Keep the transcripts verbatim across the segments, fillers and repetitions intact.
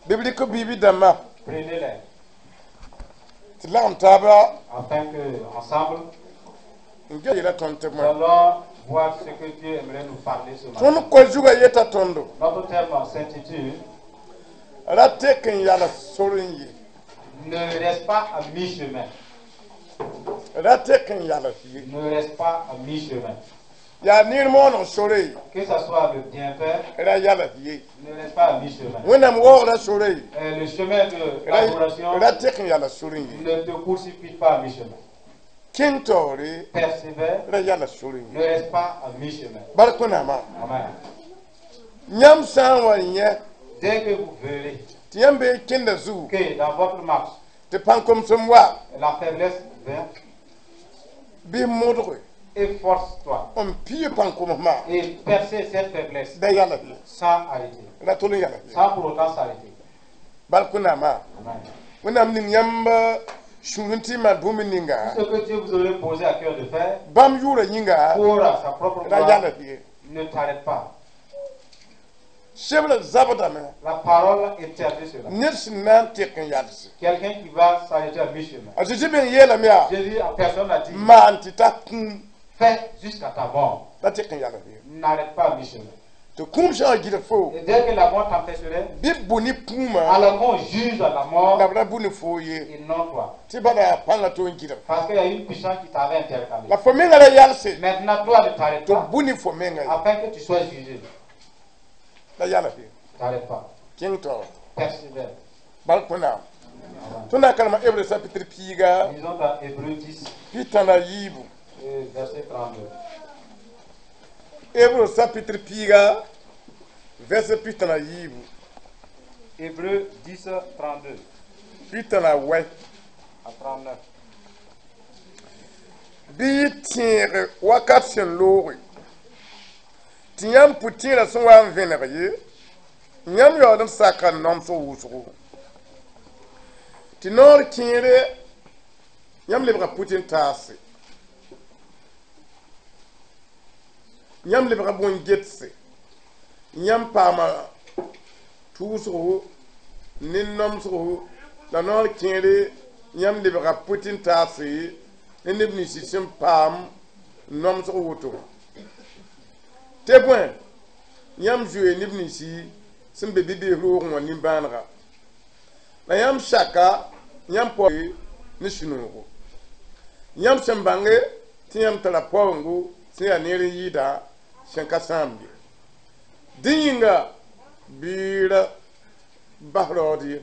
Bɩ b rɩk biibi dãmbã Prenez-les tɩ lagem taaba afin que ensemble, n ge yela tõnd tɩ nous bõe. Allons voir ce que Dieu aimerait nous parler ce matin. Tõnd koa zugã yeta tõndo Notre thème s'intitule ra tek n yals sor n ye. Ne reste pas à mi-chemin. Ra tek n yals ye. Ne reste pas à mi-chemin. Yaa neer mooneg sore Que ce soit le bienfait, ra yals ye. Ne reste pas à mi-chemin. Wẽnnaam waoogrã sore Euh, Le chemin de l'adoration, ra tek n yals sor n ye. Ne te précipite pas à mi-chemin. Kẽng taoore Persévère, ra yals sor n ne ye. Reste pas à mi-chemin. Bark Wẽnnaamã. Amen. Yãmb sã n wa yẽ Dès que vous verrez tɩ yãmb bee kẽnda zugu que dans votre marche, tɩ pãn-komsem wa la faiblesse vient, bɩ modge efforce-toi n pii pãn-komsmã et percer cette faiblesse da yals ye. Sans arrêter, Ra tol n yals ye. Sans pour autant s'arrêter. Bark Wẽnnaamã. Amen. Wẽnnaam ning yãmb sũur n tɩ maan bũmb ninga Ce que Dieu vous aurait posé à cœur de faire, bãmb yʋʋrã yĩnga pour sa propre ra gloire, yals ye. Ne t'arrête pas. Sebra zabdame La parole interdit cela. Ned sẽn na n tek n yalse. Quelqu'un qui va s'arrêter à mi-chemin. A Zeezi meng yeelame yaa Jésus, à personne n'a dit, maan tɩ ta kũum fais jusqu'à ta mort. La tek n yals ye. N'arrête pas à mi-chemin. Tɩ kũum sã n gɩdg fo Et dès que la mort t'empêcherait, bɩ b bʋ ne kũumã alors qu'on juge la mort la b ra bʋ ne foo ye et non toi. Tɩ bala yaa pãngã tɩ n gɩdg. Parce qu'il y a une puissance qui t'avait intercalé. La fo mengã ra yalse Maintenant, toi, ne t'arrête tɩ pas b bʋ ne fo menga ye. Afin que tu sois jugé. La yals ye. T'arrête pas. Kẽng taoor. Persévère. Bark Wẽnnaam. Tõnd na n karema Hebre chapitre piiga Lisons dans Hébreu dix, pita la yiibu. Et verset trente-deux. Hébreu chapitre piiga verset pita la yiibu. Hébreu dix, trente-deux pita la wɛ. À trente-neuf. Bɩ yɩ tẽeg wakat sẽn looge tɩ yãmb pʋ-tẽerã sẽn wa n vẽneg ye yãmb yaool n saka nomsg wʋsgo tɩ noor kẽere yãmb lebga pʋtẽn-taase yãmb lebga bõn-getse yãmb paama tʋʋsgo ne nomsgo la noor kẽere yãmb lebga pʋtẽn-taase ne neb nins sẽn paam nomsg woto tɩ bõe yãmb zoe neb ninsi sẽn be bi-bees roogẽ wã nimbãanega la yãmb saka yãmb pao ne sũ-noogo yãmb sẽn bãnge tɩ yãmb tara paoongo sẽn yaa neer n yɩɩda sẽn ka sãamde dẽ yĩnga bɩ ra bas raood ye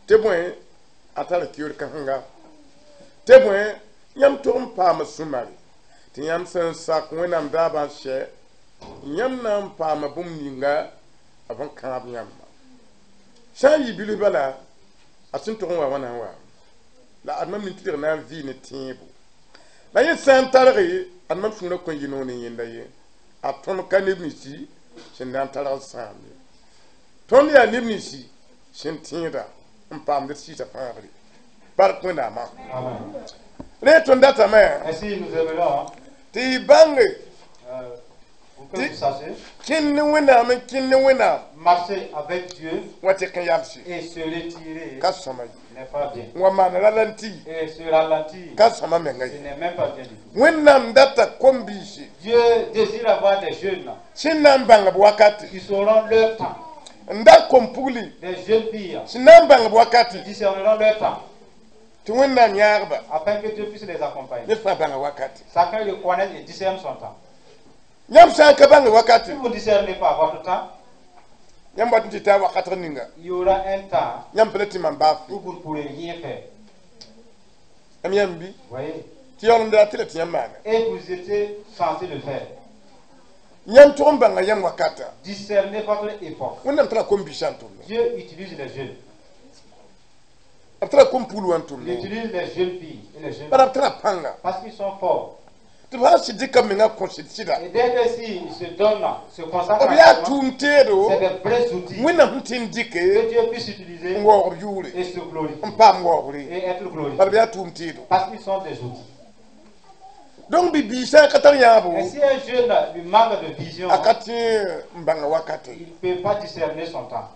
tɩ bõe a tara kioor kãsenga tɩ bõe yãmb tog n paama sũ-mare tɩ yãmb sẽn sak Wẽnnaam daabã n sɛ yãmb na n paama bũmb ninga b n kãab yãmba sã n yɩ bilf bala a sẽn tog n wa wãna n wa la ad mam nin-tɩdg na n vɩ ne tẽebo la yẽ sã n targe ad mam sũurã kõn yɩ noor ne yẽnda ye a tõnd ka neb ninsi sẽn na n targ n sãam ye tõnd yaa neb ninsi sẽn tẽeda n paamd d sɩɩsã fãagre bark Wẽnnaamã. Amen. Rẽ tõnd datame Ainsi, nous aimerions tɩ y bãnge euh, pour que vous sachiez, kẽnd ne Wẽnnaam n kẽnd ne Wẽnnaam marcher avec Dieu wa tɩk n yalse et se retirer ka sõma ye n'est pas bien. n wa maan ralenti Et se ralentir, ka sõma menga ce ye. N'est même pas bien du tout. Wẽnnaam data kom-biisi Dieu désire avoir des jeunes sẽn na n bãng b wakate qui sauront leur temps, n dat kom-pugli des jeunes filles sẽn na n bãng b wakate qui discerneront leur temps tɩ Wẽnnaam yãagba afin que Dieu puisse les accompagner. Ned fãa bãnga wakate. Chacun le connaît et discerne son temps. Yãmb sã n ka bãng wakate Si vous ne discernez pas votre temps, yãmb wat n tɩ taa wakatg ninga il y aura un temps yãmb pa le tɩ mam baa où vous ne pourrez rien faire. Yãmb yãmb bɩ Voyez? Tɩ yaool n daa tɩ la tɩ yãmb maana. Et vous étiez censé le faire. Yãmb tʋg n bãnga yãmb wakata. Discernez votre époque. Wẽnnaam tara kom-biisã n tʋmda. Dieu utilise les jeunes. B tara kom-pul wã n Il tʋmda. Utilise les jeunes filles et les jeunes Bara b tara pãnga. Parce qu'ils sont forts. Tɩ b sã n sɩd dɩka menga kõsd sɩda Et dès que s'ils se donnent, se consacrent, b yaa à tʋʋm teedo c'est des vrais outils Wẽnnaam sẽn tɩ n dɩke que Dieu puisse utiliser n waoog b yʋʋre et se glorifier n paam waoogre et être glorifié. Bala b yaa tʋʋm teedo. Parce qu'ils sont des outils. Donc bi-biig sã n ka tar yãabo Et si un jeune lui manque de vision, a ka tẽ n bãnga wakate il ne peut pas discerner son temps.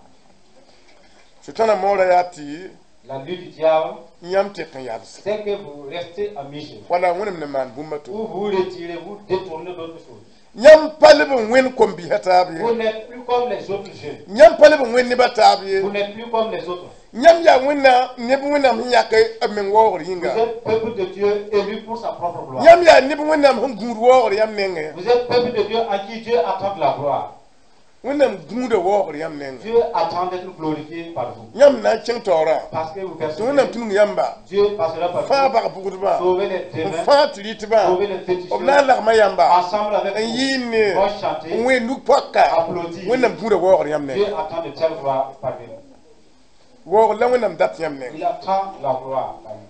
Sʋtãna moorã yaa tɩ La lutte du diable, yãmb tek n yals c'est que vous restez à mi-chemin. Wala Wẽnnaam ne maan bũmb a to. Ou vous retirez, vous détournez d'autres choses. Yãmb pa leb n wẽnd kom-bisã taab ye. Vous n'êtes plus comme les autres jeunes. Yãmb pa leb n wẽnd nebã taab ye. Vous n'êtes plus comme les autres. Yãmb yaa Wẽnnaam neb Wẽnnaam sẽn yãk b meng waoogr Vous yĩnga. Êtes peuple de Dieu élu pour sa propre gloire. Yãmb yaa neb Wẽnnaam sẽn gũud waoogr yãmb nengẽ. Vous êtes peuple de Dieu à qui Dieu attend de la gloire. Wẽnnaam gũuda waoogr yãmb nengẽ. Dieu attend d'être glorifié par vous. Yãmb na n kẽng taoorã Parce que vous tɩ persévérez. Wẽnnaam tũnug yãmba Dieu passera par fãa vous. bag-bʋgdbã Sauver les n démons, fãa tɩ rɩtbã sauver les b féticheurs. Na n lagma yãmba Ensemble avec n vous, yɩɩnd vont chanter, n wẽ nug-poaka applaudir. Wẽnnaam gũuda waoogr yãmb Dieu nengẽ. Attend de telles gloires parmi nous. Waoogr la Wẽnnaam dat yãmb nengẽ. Il attend la gloire parmi nous.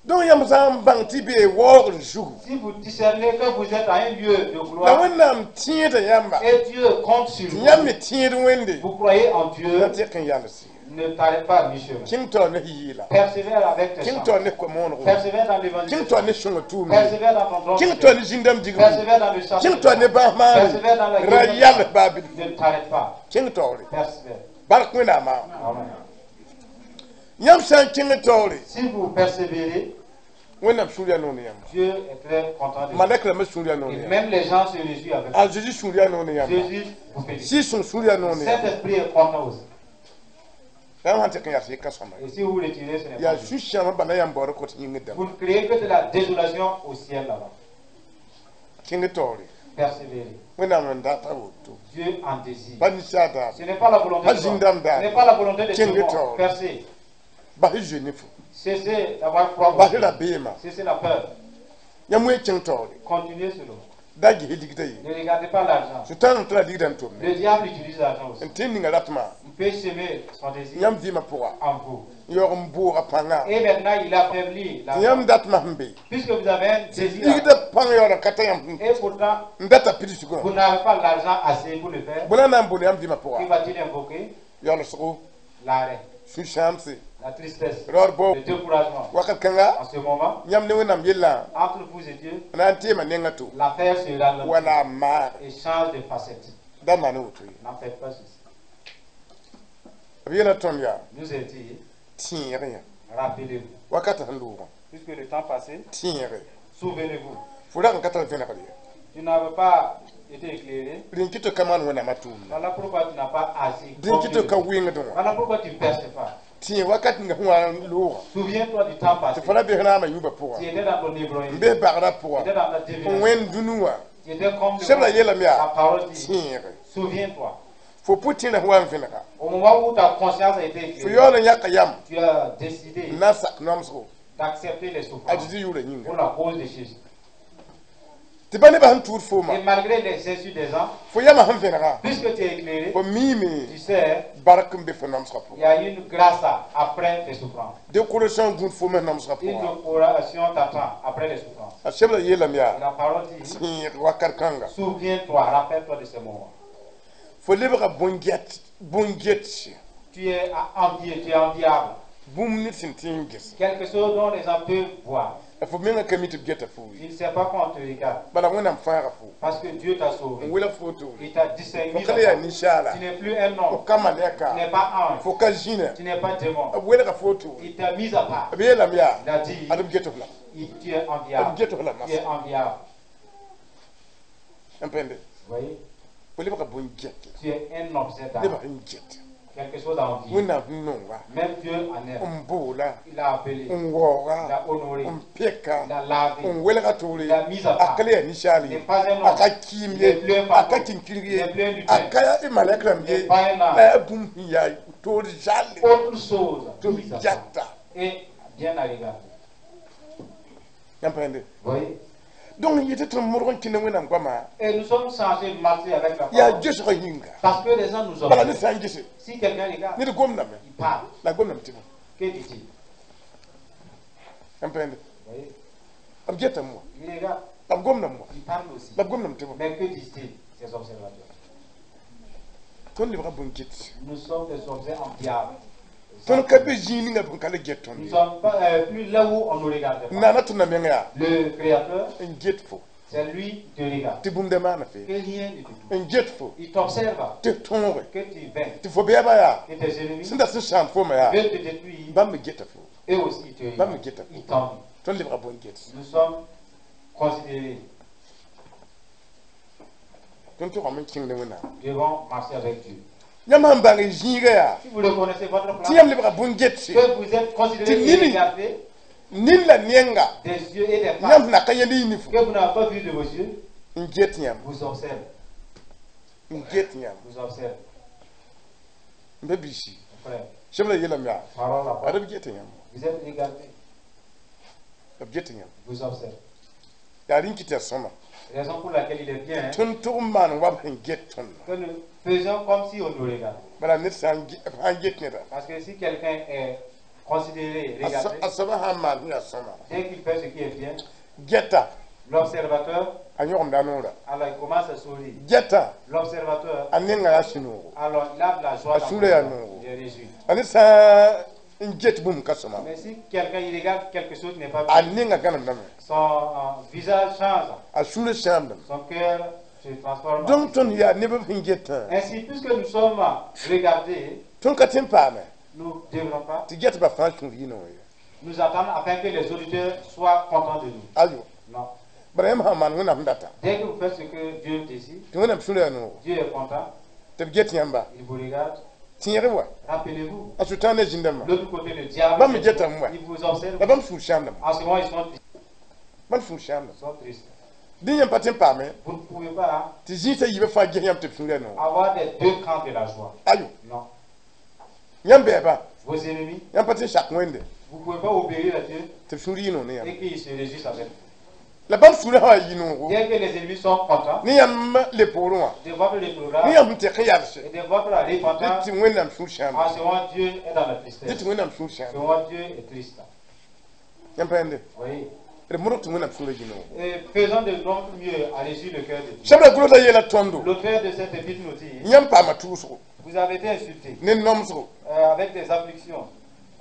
Donc yãmb sã n bãng tɩ bee waoogr zugu Si vous discernez que vous êtes à un lieu de la gloire Wẽnnaam tẽeda yãmba et Dieu compte sur tɩ vous, yãmb me tẽed Wẽnde vous croyez en Dieu, la tɩk n yals ne t'arrête pas à mi-chemin. Kẽng taoor ne yɩɩla. Persévère avec tes Kẽng chants. taoor ne koa-moonego. Persévère dans Kẽng l'évangélisation. taoor ne sõnga tʋʋmde. Persévère dans ton don. Kẽng taoor ne zĩndãmb digbu. Persévère dans le chasse. Kẽng taoor ne bãas maane. Persévère dans la Ra guérison. yals baa bilfu. Ne t'arrête pas. Kẽng taoore. Persévère. Bark Wẽnnaamã. Amen. Yãmb sã n kẽng taoore Si vous persévérez, Wẽnnaam sũur yaa noor ne yãmba. Dieu est très content de vous. Malɛk rãmbã sũur yaa noor ne Et yãmba. même les gens se réjouissent avec A vous. Zeezi sũur yaa noor ne yãmba. Jésus vous félicite. Sɩɩg-sõng sũur yaa noor ne yãmba. Saint-Esprit est content aussi. Yãmb sãn tɩk n yals yɩ ka sõama. Et si vous vous retirez, ce n'est Yaa pas bien. sũ-sãambã bala yãmb baood kot yĩngr dãmba. Vous ne créez que de la désolation au ciel là-bas. Kẽng taoore. Persévérez. Wẽnnaam n data woto. Dieu en désire. Pa ninsaal daar. Ce n'est pas la volonté Pas de l'homme. zĩndãmb daar. Ce n'est pas la volonté de Kẽng tout le monde. taoore. Percez. Bas y zoe ne fo. Cessez d'avoir froid. Bas y rabeemã. Cessez la peur. Yãmb wẽ kẽng taoore. Continuez cela. Da ges ligdã ye. Ne regardez pas l'argent. Sʋtãan n tara ligdã n tʋmne. Le diable utilise l'argent aussi. N tẽ ninga ratmã. Il peut semer son désir Yãmb vɩɩmã pʋga. En vous. N yaoog n bʋʋga pãnga. Et maintenant, il affaiblit Tɩ l'argent. yãmb datmã sẽn be. Puisque vous avez un désir. Ligdã pãng yaool n ka ta yãmb Et pourtant, n data pidsgã. Vous n'avez pas l'argent assez pour le faire. Bõe na n bool yãmb vɩɩmã Qui pʋga? Va-t-il invoquer? Yaoolsgo. L'arrêt, Sũ-sãamse. La tristesse, Raood bao. Le découragement. Wakat kãnga En ce moment, yãmb ne Wẽnnaam yellã entre vous et Dieu, na n teema nenga to. L'affaire se ralentit Wala a maag. Et change de facette. Da maan woto ye. N'en faites pas ceci. B yeela tõnd yaa Nous est dit, tẽeg yã. Rappelez-vous. Wakat sẽn loogã. Puisque le temps passé, Tẽege. Souvenez-vous. Fo rag n ka tar vẽnegr ye. Tu n'avais pas été éclairé. Rẽn kɩ tɩ ka maan Wẽnnaamã tʋʋmda. Voilà pourquoi tu n'as pas agi. Dẽn kɩ tɩ ka wɩngdẽ wã. Voilà pourquoi tu ne perces pas. Tẽeg wakat ninga sẽn wa n loogã. Souviens-toi du temps passé. Tɩ fo ra bes raamã yũubã pʋga. Tu étais dans ton N ébrouillé. bes bagrã Tu pʋga. Étais dans ta N divinité. wẽnd dũnnu wã. Tu étais comme le Sebra monde. yeelame yaa La parole dit, tẽege. Souviens-toi. Fo pʋ-tẽerã sẽn wa n vẽnega. Au moment où ta conscience a été Fo éclairée, yaool n yãka yam tu as décidé n na n sak namsgo d'accepter les a souffrances Zeezi yʋʋrã yĩnga. Pour la cause de Jésus. Tɩ ba nebã sẽn tuud fooma. Et malgré les insultes des gens, Fo yamã sẽn vẽnega. Puisque tu es éclairé, Fo miime tu sais, bark n be fo namsgã il pʋgã. Y a une grâce après les souffrances. Décoration gũud fo me namsgã Une pʋgã. décoration t'attend après les souffrances. A sebra yeelame Et yaa la parole dit, tẽeg wakat kãnga. Souviens-toi, rappelle-toi de ce moment. Fo lebga bõn-get bõn-get Tu es à envier, tu es enviable. Bũmb ned sẽn tẽ n ges. Quelque chose dont les gens peuvent voir. La fo menga ka mi tɩ b geta fo Tu ye. Ne sais pas quand on te regarde. Bala Wẽnnaam fãaga fo. Parce que Dieu t'a sauvé. N welg fo toore. Il t'a distingué. Fo ka le yaa ninsaala. Tu n'es plus un Fo homme. ka Tu malɛka. N'es pas ange. Fo ka zĩna. Tu n'es pas démon. B welga fo toore. Il t'a mis à part. B yeelame yaa Il a dit, ad b get f la. Il- tu es B enviable. get f la Tu es masa. Enviable. N pẽnde. Vous voyez, Fo lebga bõn-get. Tu es un objet Nebã d'art. sẽn get. Quelque chose à envier. Wẽnnaam sẽn nonga. Même Dieu en aime. N boola. Il a appelé. N waooga. Il a honoré. N peka. Il a lavé. N welga toore. Il a mis à A part. ka le yaa ninsaal Il ye. N'est pas un A homme. ka kiim Il ye. N'est plus un A fantôme. ka kinkirg Il ye. N'est plus un lutin. A ka malɛk rãmb Il ye. N'est pas un La ange. yaa bũmb sẽn yaa toor zalle. Autre chose. Tɩ b Mis à part. gata. Et bien à regarder. Yãmb pẽnde. Vous voyez? Donc yetɩ tɩ modg n kẽnd Wẽnnaam goama Et nous sommes censés marcher avec la yaa parole. gesgã yĩnga. Parce que les gens nous Bala ned observent. sã n gese. Si quelqu'un regarde, Ned gomdame. Il parle. La gomdame tɩ bõ. Que dit-il? Yãmb pẽnde. Vous voyez? B getame wã. Il regarde, La b gomdame wã. Il parle aussi. La b gomdame tɩ bõ. Mais que disent-ils, ces observateurs? Tõnd lebga bõn-get. Nous sommes des objets enviables. Tõnd ka be zĩig ninga b ka le get tõnd Nous ne ye. sommes pas euh, plus là où on nous regarde pas. Naana tõnd na meng yaa Le Créateur n get fo. C'est lui qui te regarde. Tɩ bũmb da maana fee. Que rien ne te touche. N get fo. Il t'observe. Tɩ tõoge. Que tu vaincs. Tɩ fo beɛba yaa. Que tes ennemis Sẽn dat sẽn sãam fooma yaa. veulent te détruire. Bãmb me geta fo. Eux aussi, ils te Bãmb me regardent. geta fo. Ils t'envient. Tõnd lebga bõn-get. Nous sommes considérés. Tõnd togame n kẽng ne Wẽnnaam. Devons marcher avec Dieu. Yãmb sẽn bãng y zĩiga yaa. Si vous reconnaissez votre Tɩ place, yãmb lebga bõn-getse. que vous êtes considéré Tɩ et nini. regardé Nin la nenga. des yeux et des Yãmb faces na ka yẽnd y nifo. que vous n'avez pas vu de vos yeux, N get yãmb. vous observe. N get yãmb. Vous observe. N be biisi. Mon frère, Sẽb la yeelame yaa. parole la Ad parole. b get yãmb. Vous êtes regardé. B get yãmb. Vous observe. Yaa rẽn kɩ tɩ yaa sõma. Raison pour laquelle il est bien hein, Tõnd tʋg n maan wa b sẽn get tõnd. que nous faisons comme si on nous regarde. Bala ned sã n ge- sã n get neda. Parce que si quelqu'un est considéré, A regardé, so- a soaba sã n maan sẽn yaa sõma. dès qu'il fait ce qui est bien, Geta. l'observateur, A yõgemda noora. alors il commence à sourire. Geta. L'observateur, A nenga yaa sũ-noogo. alors il a de la joie A dans son sũurã yaa cœur. noogo. Il est réjoui. A ned sã n get bũmb ka sõma. Mais si quelqu'un il regarde quelque chose qui n'est pas A bien, nenga gãnemdame. son euh, visage change, A sũurã sãamdame. son cœur se transforme. Donc tõnd yaa neb b sẽn getã. Ainsi, puisque nous sommes regardés, Tõnd ka tẽ n paame. nous ne devrons pas Tɩ getbã fãa sũur yɩ noor ye. nous attendre afin que les auditeurs soient contents de nous. Ayo. Non. Bara yãmb sã n maan Wẽnnaam sẽn data. Dès que vous faites ce que Dieu désire, Tɩ Wẽnnaam sũurã yaa noogo. Dieu est content, Tɩ b get yãmba. il vous regarde. Tẽeg wa. Rappelez-vous, A Sʋtãan ne zĩndãmbã. l'autre côté, le diable, Bãmb me getame wa. il vous observe. La bãmb sũur sãamdame. En ce moment, ils sont tristes. Bãmb sũur sãamdame. Ils sont tristes. Dẽ yãmb pa tẽ n paame. Vous ne pouvez pas Tɩ zĩisã yiibã fãa ges yãmb tɩ b sũurã yaa noogo. avoir des deux camps de la joie. Ayo. Non. Yãmb bɛɛba. Vos ennemis, Yãmb pa tẽ n sak Wẽnde. vous ne pouvez pas obéir à Dieu Tɩ b sũur yɩ noog ne yãmb. et qu'ils se réjouissent avec vous. La bãmb sũurã sã wa yɩ noogo. Dès que les ennemis sont contents Ne yãmb le poorẽ wã. de votre Ne rétrograde yãmb sẽn tɛk n yalse. et de votre repentance, Dẽ tɩ Wẽnnaam sũur sãamda. en ce moment, Dieu est dans la Dẽ tristesse. tɩ Wẽnnaam sũur En ce sãamda. moment, Dieu est triste. Yãmb pa yãnde. Vous voyez. D modg tɩ Wẽnnaam sũurã yɩ noogo. Et faisons de notre mieux à réjouir le cœur de Dieu. Sẽb la gʋls la yeela tõndo. L'auteur de cette épître nous dit, Yãmb paama tʋʋsgo. vous avez été insultés Ne nomsgo. euh, avec des afflictions.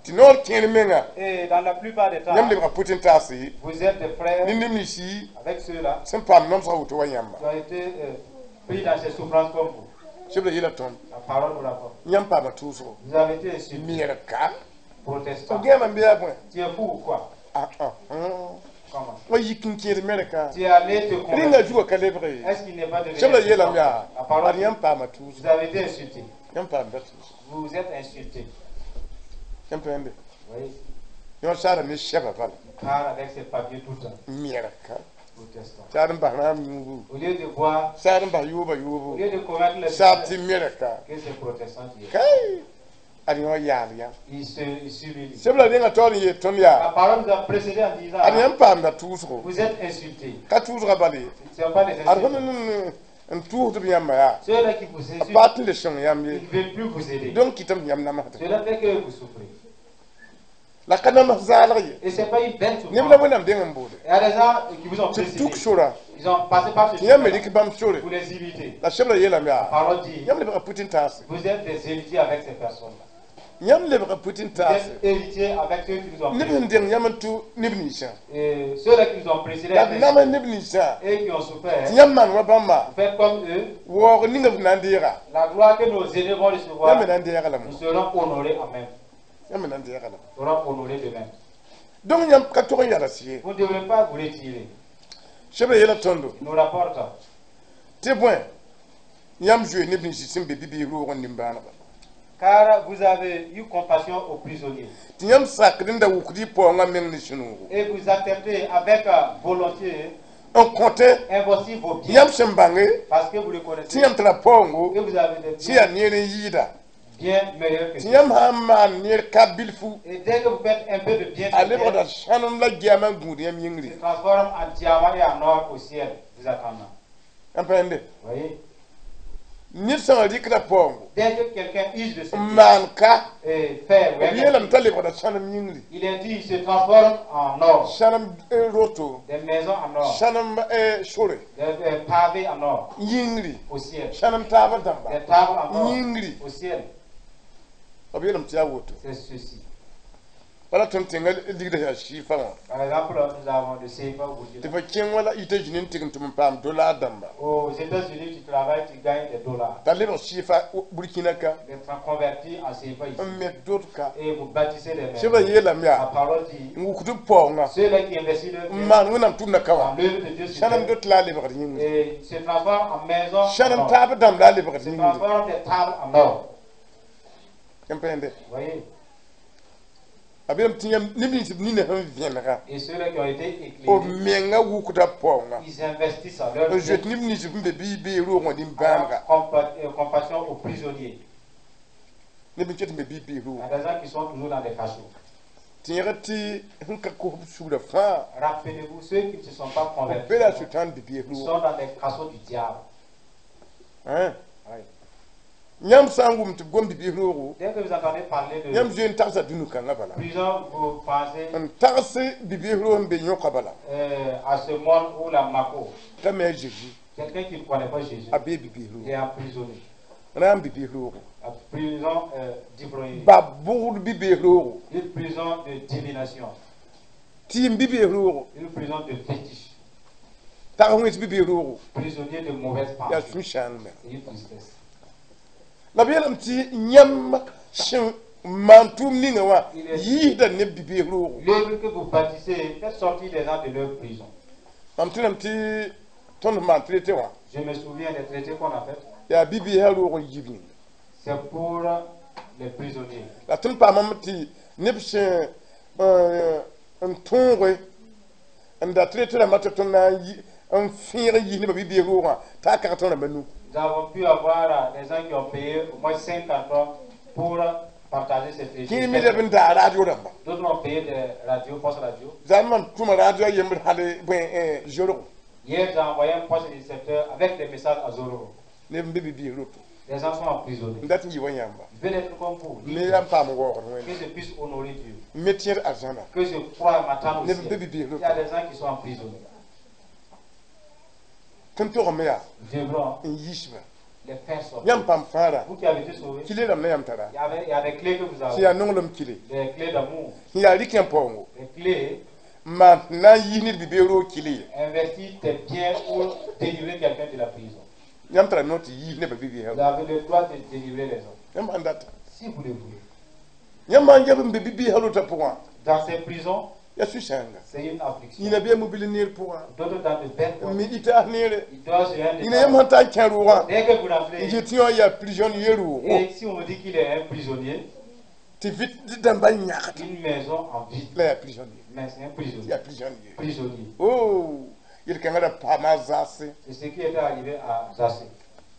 Tɩ noor kẽer menga. Et dans la plupart des temps, Yãmb lebga pʋt n taase. vous êtes des frères Ne neb ninsi avec ceux-là sẽn paam nomsgã woto wa yãmba. qui ont été euh, pris dans ces souffrances comme vous. Sẽb la yeela tõnd. La parole nous rapporte. Yãmb paama tʋʋsgo. Vous avez été insultés, Meerka. protestants. F gãame n be yaa bõe. Tu es fou ou quoi? Ah ah. Comment? Wa yik n kẽed Mɛrka. Tu es allé te Rĩngã convertir. zugã ka lebg ye. Est-ce qu'il n'est pas devenu Sẽb la yeelame yaa. La parole Ad dit, yãmb paama tʋʋsgo. vous avez été insultés. Yãmb paamda tʋʋsgo. Vous êtes insultés. Yãmb pa yãnde. Vous voyez, Yõ saara ne sɛba bala. il parle avec ses papiers tout le temps. Meerka. Protestant. Saar n bas rãam yũubu. Au lieu de voir, Saar n bas yooba au yoobo. lieu de commettre les Saab tɩ péchés Mɛrka. que ces protestants qui Kai! Ad yõ yaal yãmb. Ils se, ils s'humilient. Sẽb la rẽngã taoor n yeel tõnd La yaa. parole nous a précédé en disant, Ad yãmb paamda tʋʋsgo. vous êtes insultés. Ka tʋʋsga bal ye. Ce ne sont pas des Ad fõm insultes. n tʋʋsd b yãmba yaa. Ceux-là qui vous A insultent, pa tɩ le sõng yãmb ils ye. ne veulent plus vous aider. Donc kɩtame tɩ yãmb namsda. Cela fait que vous souffrez. La ka nams zaalg ye. Et ce n'est pas une belle Neb la souffrance. Wẽnnaam deng n boode. Il y a des gens qui vous ont Tɩ b précédé. tuk sora. Ils ont passé par ce Tɩ yãmb me chemin. rɩk bãmb sore. Vous les imitez. La sẽb la yeelame La yaa. parole dit, Yãmb lebga pʋt n taase. vous êtes des héritiers avec ces personnes-là. Yãmb lebga pʋt n Vous taase. êtes héritiers avec ceux qui vous ont Neb précédé. sẽn deng yãmb n tʋ neb ninsã. Et ceux-là qui nous ont précédés La b nama neb ninsã. et qui ont souffert, Tɩ yãmb maan wa bãmba. vous faites comme eux. Waoog ninga b na n deega. La gloire que nos aînés vont recevoir, Yãmb me na n deega lame. nous serons honorés en même. Yãmb me na n deega lame. Nous serons honorés de même. Donc yãmb ka tog n yals ye. Vous ne devrez pas vous retirer. Sẽb la yeela tõndo. Il nous rapporte Tɩ bõe yãmb zoe neb nins sẽn be bi-biis roog n nimbãanega. car vous avez eu compassion aux prisonniers Tɩ yãmb sakd n da wukd y paoongã meng ne sũ-noogo. et vous acceptez avec euh, volonté N kõte investir vos biens yãmb sẽn bãnge parce que vous le tɩ connaissez yãmb tara paoongo que vous avez des tɩ yaa biens neer n yɩɩda. bien meilleurs que Tɩ ceux. yãmb sã n maan neer ka bilfu Et dès que vous faites un peu de bien, a sur lebgda terre, sãnem la gɛɛmã n gũud yãmb yĩngri. se transforme en diamant et en or au ciel, vous attendant. Yãmb pa yãnde. Vous voyez? Ned sã n rɩkda paoongo Dès que quelqu'un use de ce n bien maan ka et fait, b yeelame t'a lebgda sãnem yĩngri. il est dit, il se transforme en or, Sãnem roto, des maisons en or, sãnem sore des euh, pavés en or yĩngri, au ciel, sãnem taabã dãmba des tables en or yĩngri. au ciel. B yeelame tɩ yaa woto. C'est ceci. Wala tõnd tẽngã ligdã yaa sɩɩfa wã. Par exemple, nous avons le C F A au Tɩ Burkina. fo kẽng wala États-Unis n tɩg n tʋm n paam dollar dãmba. Aux États-Unis, tu travailles, tu gagnes des dollars. T'a lebg sɩɩfa Burkina ka. Les francs convertis en C F A ici. N met dot ka. Et vous bâtissez des maisons. Sẽbra yeelame La yaa parole dit, n wukd b paoongã ceux-là qui investissent leur n bien maan Wẽnnaam tʋmdã ka wã dans l'œuvre de Dieu sur sãnem terre, dot la a lebgd yĩngri. Et se transforment en maisons en Sãnem or. taab dãmb la a lebgd Se yĩngri. transforment des tables en or. Yãmb pa yẽnde. Vous voyez? A beelame tɩ yãmb neb nins b nina sẽn vẽnega Et ceux-là qui ont été b éclairés, menga wukda paoongã ils investissent à leur n bien zoet neb nins b be bɩ bee roog wã nin-bãamga. Compa- euh, compassion aux prisonniers. Neb n ket n be bɩ bee Il roog. y a des gens qui sont toujours dans des cachots. Tɩ yẽgd tɩ sẽn ka kos b sugda fãa Rappelez-vous, ceux qui ne se sont pas b convertis be la sʋtãan bi-bees ils roog. sont dans des cachots du diable. Hein? Oui. Yãmb sã n wʋm tɩ b gom bi-bees roogo Dès que vous entendez parler de yãmb zoe n tagsa dũni-kãngã bala prison, vous pensez n tags bi-bees roog n be yõka bala euh, à ce monde où la Mako, t'a me a Jésus quelqu'un qui ne connaît pas Jésus, a bee bi-bees il est roogo emprisonné. rãam bi-bees roogo La prison euh, d'ivrognerie, ba bʋgd bi-bees roogo une prison de divination, tɩɩm bi-bees roogo une prison de fétiche, tag wẽns bi-bees roogo prisonnier de mauvaises yaa pensées. sũ-sãang me. C'est une tristesse. La b yeelame tɩ yãmb sẽn maan tʋʋm ninga wã yiisda neb bi-bees roogo. L'œuvre que vous bâtissez fait sortir les gens de leur prison. Mam tɩrame tɩ tõnd maan traité wã Je me souviens des traités qu'on a fait. Yaa bi-beesã roog n yib yĩnga. C'est pour les prisonniers. La tõnd paamame tɩ neb sẽn n tõoge n da traité rãmbã tɩ tõnd na n yi n fẽeg n yis nebã bi-bees roogã t'a kag tõnd rãmbã nu. Nous avons pu avoir euh, des gens qui ont payé au moins cinq cartons pour partager ces traités. Kẽer me leb n daa radio rãmba. D'autres ont payé des radios, postes radio. Zãn mam tʋma radio a yembr hal bõe zorgo. Hier, j'ai envoyé un poste récepteur avec des messages à Zoro. Neb n be bi-bees roto. Les gens sont emprisonnés. N dat n yɩ wa yãmba. Je veux être comme vous. Me yaa n paam waoogd Que Wẽnde. Je puisse honorer Dieu. N me tẽed arzãna. Que je croie m'attendre au Neb n be ciel. bi-bees Il y a roto. des gens qui sont emprisonnés. Tõnd togame yaa Nous devrons n yiisba. Les faire sortir. Yãmb paam fãara. Vous qui avez été sauvés, Kile rãmb na yãmb tara. il y, avait, il y a des clés que vous Sẽn avez. yaa nonglem kile. Des clés d'amour. Sẽn yaa rɩk yãmb paoongo. Des clés. N maan tɩ na n yiis ned bi-bees roog kile ye. Investis tes biens pour délivrer quelqu'un de la prison. Yãmb tara noor tɩ yiis nebã bi-beesã. Vous avez le droit de délivrer les hommes. Yãmb sãn data. Si vous le voulez. Yãmb maan yɛb n be bi-beesã rotã pʋgã. Dans ces prisons, Yaa sũ-sãanga. c'est une affliction. Yĩna bɩ a mobile neer pʋgã. D'autres dans de belles N me voitures. ɩta neere. Ils doivent se rendre. Yĩna yãmb sãn ta n kẽ roogã. Dès que vous N rentrez, yet yã yaa prisonnier roogo. et si on vous dit qu'il est un prisonnier, Tɩ vɩt dãmbã yãgd. Une maison en vide, La yaa prisonnier. Mais c'est un prisonnier. Yaa prisonnier. Prisonnier. Oh, yel-kãngã ra paama a zaase. C'est ce qui était arrivé à Zachée.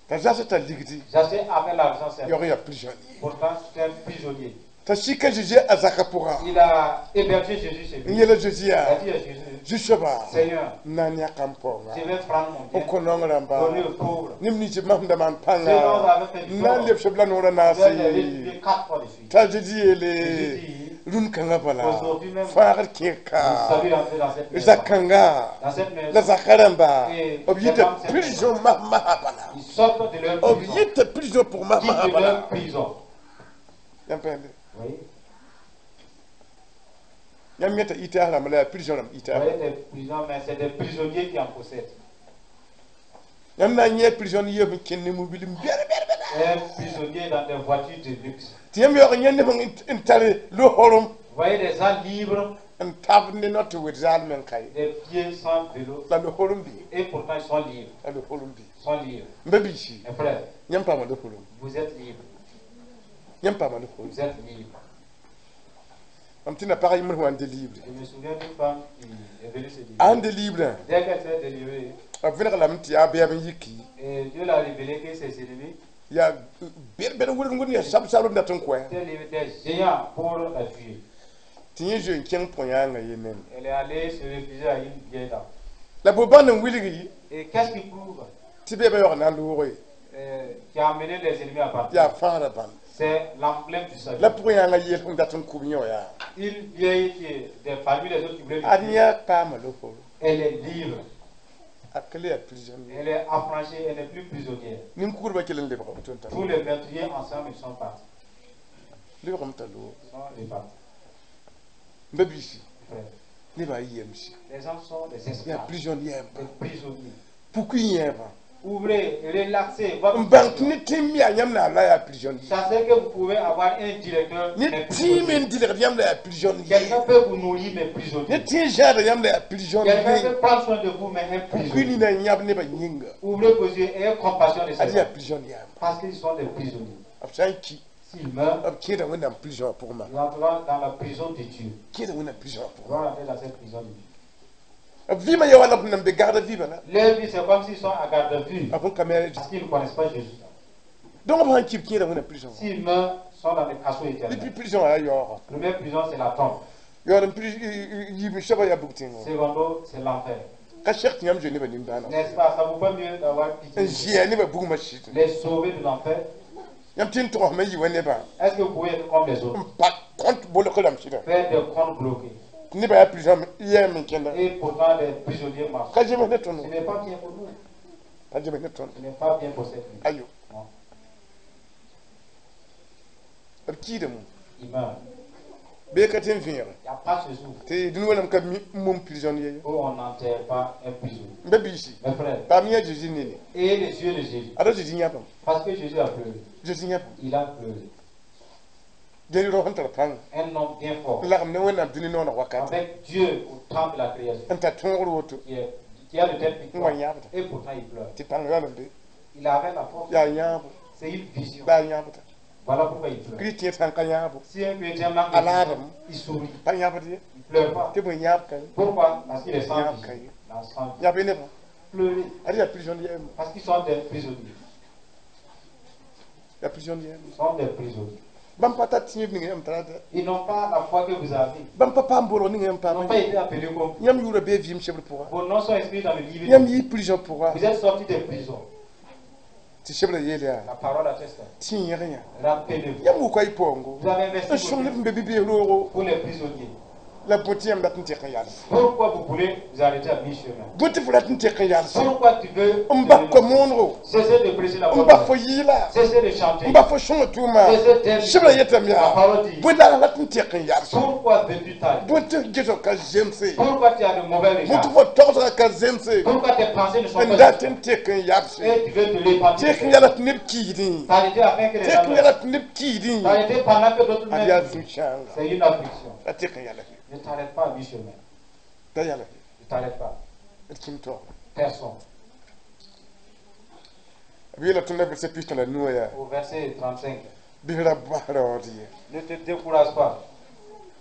T'a zaase t'a ligdi. Zachée avait l'argent, certes. Yaoog yaa prisonnier. Pourtant, c'est un prisonnier. T'a sika Jésus a zaka pʋgã. Il a hébergé Jésus chez N lui. yeela Jésus Il a yaa dit à Jésus, Zu-soaba Seigneur, n na n yãka n paoongã. Je vais prendre mon B bien, kõ naong rãmba donner aux pauvres. neb nins b masẽn da maan Ceux dont pãnga vous avez fait du n na n tort, lebs b la noorã je naase. vais les restituer quatre fois de suite. T'a Jésus Jésus yeele dit, rũn-kãngã bala Aujourd'hui même, fãagd kẽer-ka vous savez entrer dans cette maison. zak-kãnga Dans cette maison, la zaka rãmba Et b yita prison mas-masã bala. Ils sortent de leur B prison. yita prison pʋg mas-masã Quittent bala. leur prison. Yãmb pa yẽnde. Vous voyez? Yãmb yẽta ɩta rãmba la yaa prison rãmb Vous ɩta. voyez des prisons, mais c'est des prisonniers qui en possèdent. Yãmb na n yẽ prisonnier n kẽnd ne mobil n bɛr bɛr bɛr. Un prisonnier dans des voitures de luxe. Tɩ yãmb yaoog yẽ neb n tar lo-horem Vous voyez des gens libres, n tab ne not tɩ wed zaalmẽ n ka ye. Des pieds sans vélo, La lo-horem bee. Et pourtant ils sont libres. La lo-horem bee. Ils sont libres. N ba biisi. Mes frères, Yãmb paama lo-horem. Vous êtes libres. Yãmb paama lo-horem. Vous êtes libres. Mam tɩ na pag yembr sẽn wa n délivre. Je me souviens d'une femme qui est venue se délivrer. A sẽn délivre Dès qu'elle s'est délivrée, b vẽneg lame tɩ yaa bɛɛb n yiki. Et Dieu l'a révélé que ses ennemis Yaa bɛd-bɛd wʋrg wʋrg yaa sab-sabr n dat n kõ étaient libres des géants pour la tuer. Tɩ yẽ zoe n kẽng põ-yãangã ye nende. Elle est allée se réfugier à une vieille dame. La bo bãnd n wilgi Et qu'est-ce qui prouve tɩ bɛɛbã yaoog na n loog ye euh, qui a amené les ennemis à partir? Yaa fãagrã bãmb. C'est l'emblème du salut. La pʋgã yãngã yel sẽn dat n kʋb yẽ wã yaa Une vieille qui est des parmi les autres qui voulaient le ad tuer, yã paama lo-horo. Elle est libre. A ka le yaa prisonnier. Elle est affranchie, elle n'est plus prisonnière. Nin-kugrbã kell n lebga woto n tar. Tous les meurtriers ensemble, ils sont partis. Lebgame t'a loog. Ils sont repartis. M ba-biisi Frère, nebã yemse. les gens sont des Yaa esclaves, prison yɛɛmbã. Des prisonniers. Puk yẽebã. Ouvrez, relaxez votre N bãng tɩ conscience. ne tẽm yaa yãmb na la yaa prison. Sachez que vous pouvez avoir un directeur, Ne mais tẽem prisonnier. n dɩlgd yãmb la yaa prison. Quelqu'un peut vous nourrir, mais Ne prisonnier. tẽ zãada yãmb la yaa prison. Quelqu'un peut prendre soin de vous, mais un Puk prisonnier. nina n yãb nebã yĩnga. Ouvrez vos yeux et ayez compassion de ces Ad yaa gens. prison yãmba. Parce qu'ils sont des prisonniers. B sã n ki S'ils meurent, b kẽeda Wẽnnaam prison wã pʋgẽ ma. ils entreront dans la prison de Dieu. Kẽeda Wẽnnaam prison wã Ils pʋgẽ. vont rentrer dans cette prison de Dieu. B vɩɩmã ya wala b nan be gagda vɩɩmã la. Leur vie, c'est comme s'ils sont à garde à vue. B sẽn ka me. Parce qu'ils ne connaissent pas Jésus. Donc b sãn ki b kẽeda Wẽnnaam prison. S'ils meurent, ils sont dans des cachots Depuis éternels. Prison wã yaa yaooga. Première prison, c'est la tombe. Yaood n yiib n soabã yaa bug tẽngã. Secondo, c'est l'enfer. Ka seg tɩ yãmb zoe nebã nimbãaneg. N'est-ce pas? Ça vaut pas mieux d'avoir pitié N zɩa nebã bugmã sɩd. les sauver de l'enfer? Yãmb tɩ n togsme n yɩ wa nebã. Est-ce que vous pouvez être comme les autres? N pa compte bolg rãmb sɩda. Faire des comptes bloqués. Tɩ nebã yaa prison yɛɛm n kẽnda. Et pourtant, des prisonniers marchent. Ka zems ne tõndo. Ce n'est pas bien pour nous. Ka zems ne tõndo. Ce n'est pas bien pour cette vie. Ayo. Non. B kiidame. Il meurt. Bee ka tɩ n vẽege. Il n'y a pas ce jour Tɩ dũni wẽnnaam ka mi n mum prisonnier ye. Où on n'enterre pas un prisonnier. M ba-biisi. Mes frères, Paam yã Zeezi nini. Et les yeux de Jésus. Ada Zeezi yãbame. Parce que Jésus a pleuré. Zeezi yãbame. Il a pleuré. Dẽn rao sẽn tar pãnga. Un homme bien fort. N lagem ne Wẽnnaam dũni nooneg wakat. Avec Dieu au temps de la création. N tar tõogr woto. Qui, est, qui a de telles victoires. N wa yãbda. Et pourtant il pleure. Tɩ pãng yaool n be. Il avait la force. Yaa yãabo. C'est une vision. La a yãabda. Voilà pourquoi il pleure. Kirist sãn ka yãabo. Si un chrétien manque de À l'arme. vision, il sourit. Pa yãbd ye. Il pleure pas. Tɩ bõe yãab ka ye. Pourquoi? Parce qu'il est sans Yãab vision. ka ye. Il a sans vision. Yãb y nebã. Pleurer. Ad yaa prisonnier yɛɛma. Parce qu'ils sont des prisonniers. Yaa prisonnier yɛɛma. Ils sont des prisonniers. Bãmb pa tar tẽeb ning yãmb tarata. Ils n'ont pas la foi que vous avez. Bãmb pa paam bolg ning yãmb Ils n'ont paam. pas été appelés comme vous. Yãmb yʋʋra bee vɩɩm sebr pʋga. Vos noms sont inscrits dans le livre. Yãmb yɩ prison pʋga. Vous êtes sortis des prisons. Tɩ sebra yeel yaa. La parole atteste. Tɩ yẽg yã. Rappelez-vous. Yãmb wʋka y paoongo. Vous avez N investi sõng vos neb vies n be bi-bees roogo. Pour les prisonniers. La bõe tɩ yãmb dat n tek n yals. Pourquoi vous voulez vous arrêter à mi-chemin? Bõe tɩ fo rat n tek n yals. Pourquoi tu veux N bas ko-moongo. cesser de prêcher la N bonne bas fo nouvelle? yɩɩla. Cesser de chanter. N bas fo sõnga tʋʋma. Cesser d'aimer. Sebra yetame La yaa. parole dit. Bõe la rat n tek n yals. Pourquoi veux-tu t'arrêter? Bõe tɩ gesg ka zemse. Pourquoi tu as de mauvais Bõe tɩ regards? fo togsga ka zemse. Pourquoi tes pensées ne sont N pas dat justes? n tek n yabse. Et tu veux te repentir. Tek n yala tɩ neb kiidẽ. T'arrêter afin que les Tek gens n meurent. yala tɩ neb kiidẽ. T'arrêter pendant que d'autres Ad yaa meurent. zu-sãanga. C'est une affliction. La tek n yala. Ne t'arrête pas à mi-chemin. Da yala. Ne t'arrête pas. D kĩm taoora. Personne. B yeela tõnd verset pistã la nuwã yaa. Au verset trente-cinq. Bɩ ra bas raood ye. Ne te décourage pas.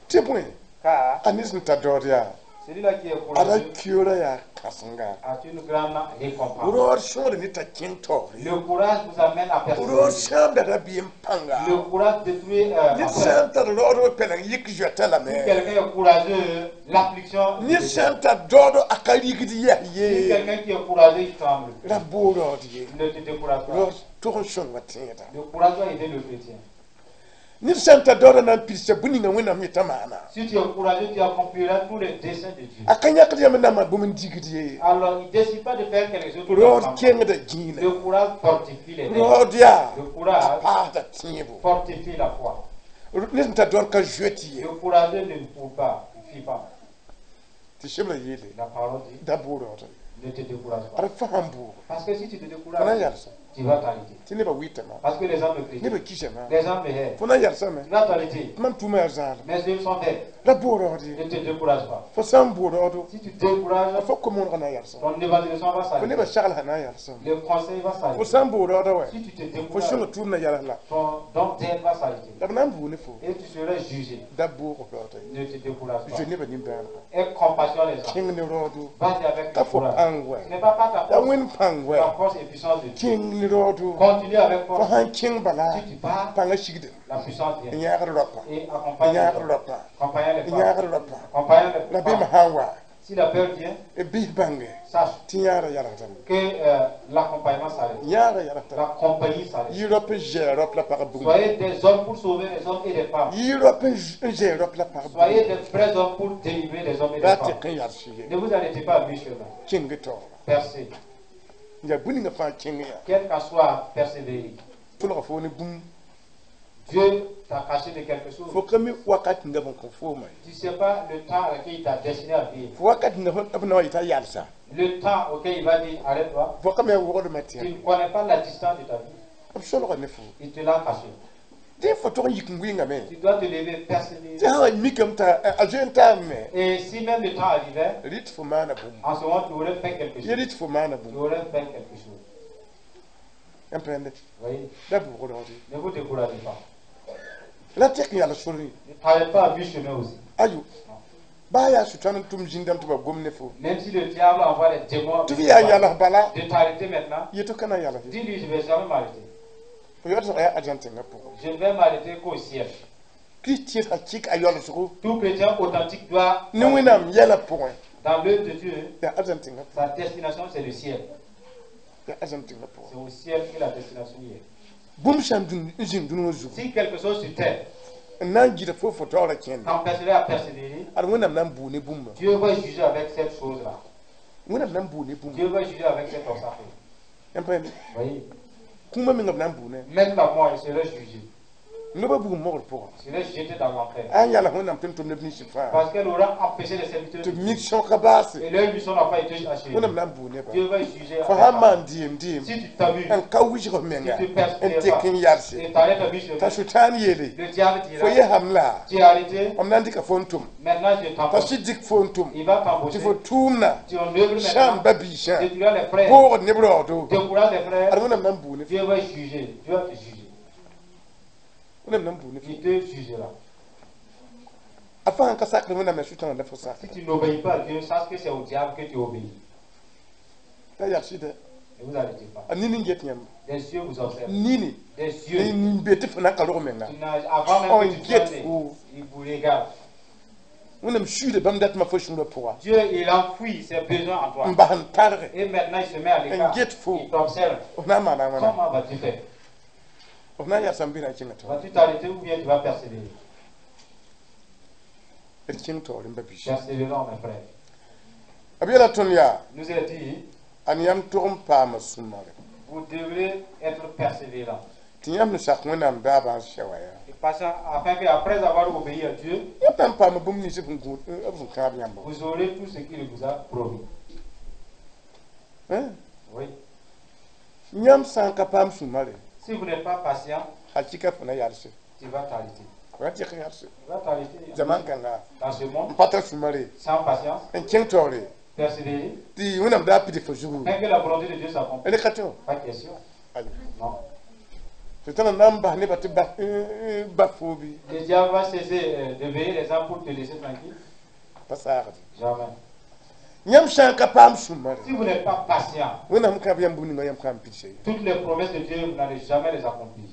Tɩ bõe Car a ned sẽn tar daood yaa. Celui-là qui est Ada courageux kioola yaa kãsenga. A une grande récompense. Raood sõor ne t'a kẽng taoore. Le courage vous amène à Raood persévérer. sãamda rabiam pãnga. Le courage détruit euh, Ned la peur. sã n tar raood wa pɛleng yik zoɛta lame. Si quelqu'un est courageux, l'affliction. Ned sã n tar daoodo a ka rigd yɛs Si ye. quelqu'un qui est courageux, il tremble. Ra boog raood ye. Ne te décourage pas. Raood tog n sõnga tẽeda. Le courage doit aider le chrétien. Ned sã n tar daooda na n pidsa bũn ninga Wẽnnaam yetã maana. Si tu es courageux, tu accompliras tous les desseins de Dieu. A ka yãkd yãmb n na n maan bũmb n digd ye. Alors, il ne décide pas de faire quelque chose. Tout Raood ensemble. kẽngda gĩinã. Le courage fortifie les reins. Raood yaa Le courage a paasda tẽebo. Fortifie la foi. Ned sẽn tar daood ka zoet ye. Le courageux ne court pas, il ne fuit pas. Tɩ sebra yeele. La parole dit, Da boog raood. Ne te décourage pas. Ad fo sãn bʋʋg. Parce que si tu te Fo na n décourages, yalsã. Tu vas t'arrêter. Tɩ nebã wɩtame. Parce que les gens me critiquent. Nebã kisame. Les gens me haient. Fo na n yalsame. Tu vas t'arrêter. Tɩ mam tʋʋmã yaa zaalem. Mes yeux sont verts. Ra boog raood ye. Ne te décourage pas. Fo sã n boog raoodo. Si tu décourages, Fo kom-wõneg na n yalsã. Ton évangélisation va Fo s'arrêter. nebã saglsã na n yalsã. Le conseil va Fo s'arrêter. sã n boog raooda wɛ. Si tu te Fo décourages, sõnga tʋʋm na yals la. Ton don d'aide va s'arrêter. La b na n bʋʋg ne fo. Et tu seras jugé. Da boog raooda ye. Ne te décourage pas. Zoe nebã nimbãanega. Aie compassion des gens. Kẽng ne raoodo. Vas-y avec Ka le fo courage. pãng wɛ. Ce n'est pas par ta Ya force. Wẽnd pãng wɛ. La force et puissance de Dieu. Kẽng ne raoodo. Continue avec Fo force. sãn kẽng bala. Si tu pars, Pãngã sigdem. La puissance N vient. yãagd raopa. Et N accompagne les yãagd hommes. raopa. Accompagne les N femmes. yãagd raopa. Accompagne les Rabeemã femmes. sã n wa. Si la peur vient, B bãnge. Sache Tɩ yãagrã yalgdame. Que euh, l'accompagnement s'arrête. Yãagrã yalgdame. La compagnie s'arrête. Yɩ raop n zɛɛ raop la pag bugum. Soyez des hommes pour sauver les hommes et les femmes. Yɩ raop n zɛɛ raop la pag bugum. Soyez des vrais hommes pour délivrer les hommes et les Ra femmes. tɩk n yals ye. Ne vous arrêtez pas à mi-chemin. Kẽng taoora. Percez. Yaa bũn ninga fãa kẽng yaa. Quel qu'en soit, persévérez. Tʋlga fo ne bũmb. Dieu t'a caché de quelque chose. Fo ka mi wakat ninga b n kõ fooma ye. Tu ne sais pas le temps à lequel il t'a destiné à vivre. Fo wakat ninga b na wa yetã yalsa. Le temps auquel il va dire arrête-toi, Fo ka mi a wogdmã tu tɩ ne connais pas la distance de ta vie. B solga ne fo. Il te l'a caché. Dẽ fo tog n yik n wɩngame. Tu dois te lever, persévérer. Tɩ sã wa mikame t'a a zoe n taame. Et si même le temps arrivait, Rɩt fo maana bũmb. En ce moment, tu aurais fait quelque Ye chose. rɩt fo maana Tu bũmb. Aurais fait quelque chose. Yãmb pẽnde. Voyez, Da bʋgd rõde. Ne vous découragez pas. La tɛk n yals sore. Ne t'arrête pas à mi-chemin aussi. Ayo. Baa yaa sʋtãan n tʋm zĩndame tɩ ba gom ne fo. Même si le diable envoie les démons Tɩ f yaa yals bala. De t'arrêter maintenant, Yeto ka na n yals ye. Dis-lui, je ne vais jamais m'arrêter. Fo yaood yaa argent tẽngã pʋgẽ. Je ne vais m'arrêter qu'au ciel. Kirist tẽedga kɩk a yaoolsgo. Tout chrétien authentique doit, Ne Wẽnnaam yɛlã pʋgẽ. Dans l'œuvre de Dieu, Yaa argent tẽngã pʋgẽ. Sa destination, c'est le ciel. Yaa argent tẽngã pʋgẽ. C'est au ciel que la destination y est. Bũmb sã n dũn n zĩnd dũni wã zugu. Si quelque chose sur terre N na n gɩda fo fo taoora kẽnda. T'empêcherait à persévérer, Ad Wẽnnaam na n buu ne bũmba. Dieu va juger avec cette chose-là. Wẽnnaam na n buu ne bũmba. Dieu va juger avec cet obstacle. Yãmb pẽnde. Voyez, Kũumã menga b na n buu ne. Même la mort, il serait jugé. Noba bugum mogr pʋgã. Il serait jeté dans l'enfer. A n yals Wẽnnaam tɩ n tʋm neb ninsã fãa. Parce qu'elle aura empêché les serviteurs. Tɩ b mik sõka baase. Et leur mission n'a pas été achevée. Wẽnnaam na n buu nebã. Dieu va juger Fo avec sã n ça. maan dɩɩm dɩɩm. Si tu t'amuses N ka wilg f menga. Si tu persévères N tek n yalse. Et t'arrêtes à mi-chemin, T'a sʋtãan yeele. Le diable Fo dira, yesame la. Tu es arrêté, M na n dɩka fo n tʋm. Maintenant je T'a t'embauche. sɩd dɩk fo n tʋm. Il va Tɩ t'embaucher. Fo tʋʋmna. Tu en œuvres Sãam maintenant. ba biisã. Détruire les frères. Boogd neb raoodo. Décourage les frères. Ad Wẽnnaam na n buu ne fo. Dieu va juger. Dieu va te juger. Wẽnnaam na n buu ne fo. Il te jugera. A fãa n ka sakd Wẽnnaam ya sʋtãan la fo Si sakda. Tu n'obéis pas à Dieu, sache que c'est au diable que tu obéis. T'a yag sɩda. Ne vous arrêtez pas. A nini n get yãmb. Des yeux vous observent. Nini. Des yeux. Nin be tɩ fo na n ka rog menga. Tu n'as- avant même On que tu sois get né, fo. il vous regarde. Wẽnnaam suuda bãmb datmã fo sũurã pʋga. Dieu, il enfouit ses besoins en toi. N bas n targe. Et maintenant, il se met à l'écart. N get fo. Il t'observe. F na n maana wãna. Comment vas-tu faire? F na n yagsã n bɩ na n kẽnga tao. Vas-tu t'arrêter ou bien tu vas persévérer? D kẽng taoor n ba biisi. Persévérons, mes frères. B yeela tõnd yaa. Nous est dit, A yãmb tog n paama sũ-mare. Vous devrez être persévérants. Tɩ yãmb n sak Wẽnnaam daabã n sɛ wa yaa. Et passant, afin qu'après avoir obéi à Dieu, Yãmb na n paama bũmb nins b sẽn gũud b sẽn kãab yãmba. Vous aurez tout ce qu'il vous a promis. Hein? Oui. Yãmb sã n ka paam sũ-mare. Si vous n'êtes pas patient, Hakika fo na yalse. Tu vas t'arrêter. Fo na tɩk n yalse. Tu vas t'arrêter. Zaman kãnga. Dans ce monde, N pa tar sũ-mare. Sans patience, N kẽng taoore. Persévérer, Tɩ Wẽnnaam daa pid fo zugu. Afin que la volonté de Dieu s'accomplisse. Rẽ ka tɩ wã. Pas question. Ayo. Non. Sʋtãana na n bas nebã tɩ bas ba fo bɩ. Le diable va cesser euh, de veiller les gens pour te laisser tranquille. Pa saagde. Jamais. Yãmb sã n ka paam sũ-mare. Si vous n'êtes pas patient, Wẽnnaam kãab yãmb bũmb ninga yãmb kãab n pidsa ye. Toutes les promesses de Dieu, vous n'allez jamais les accomplir.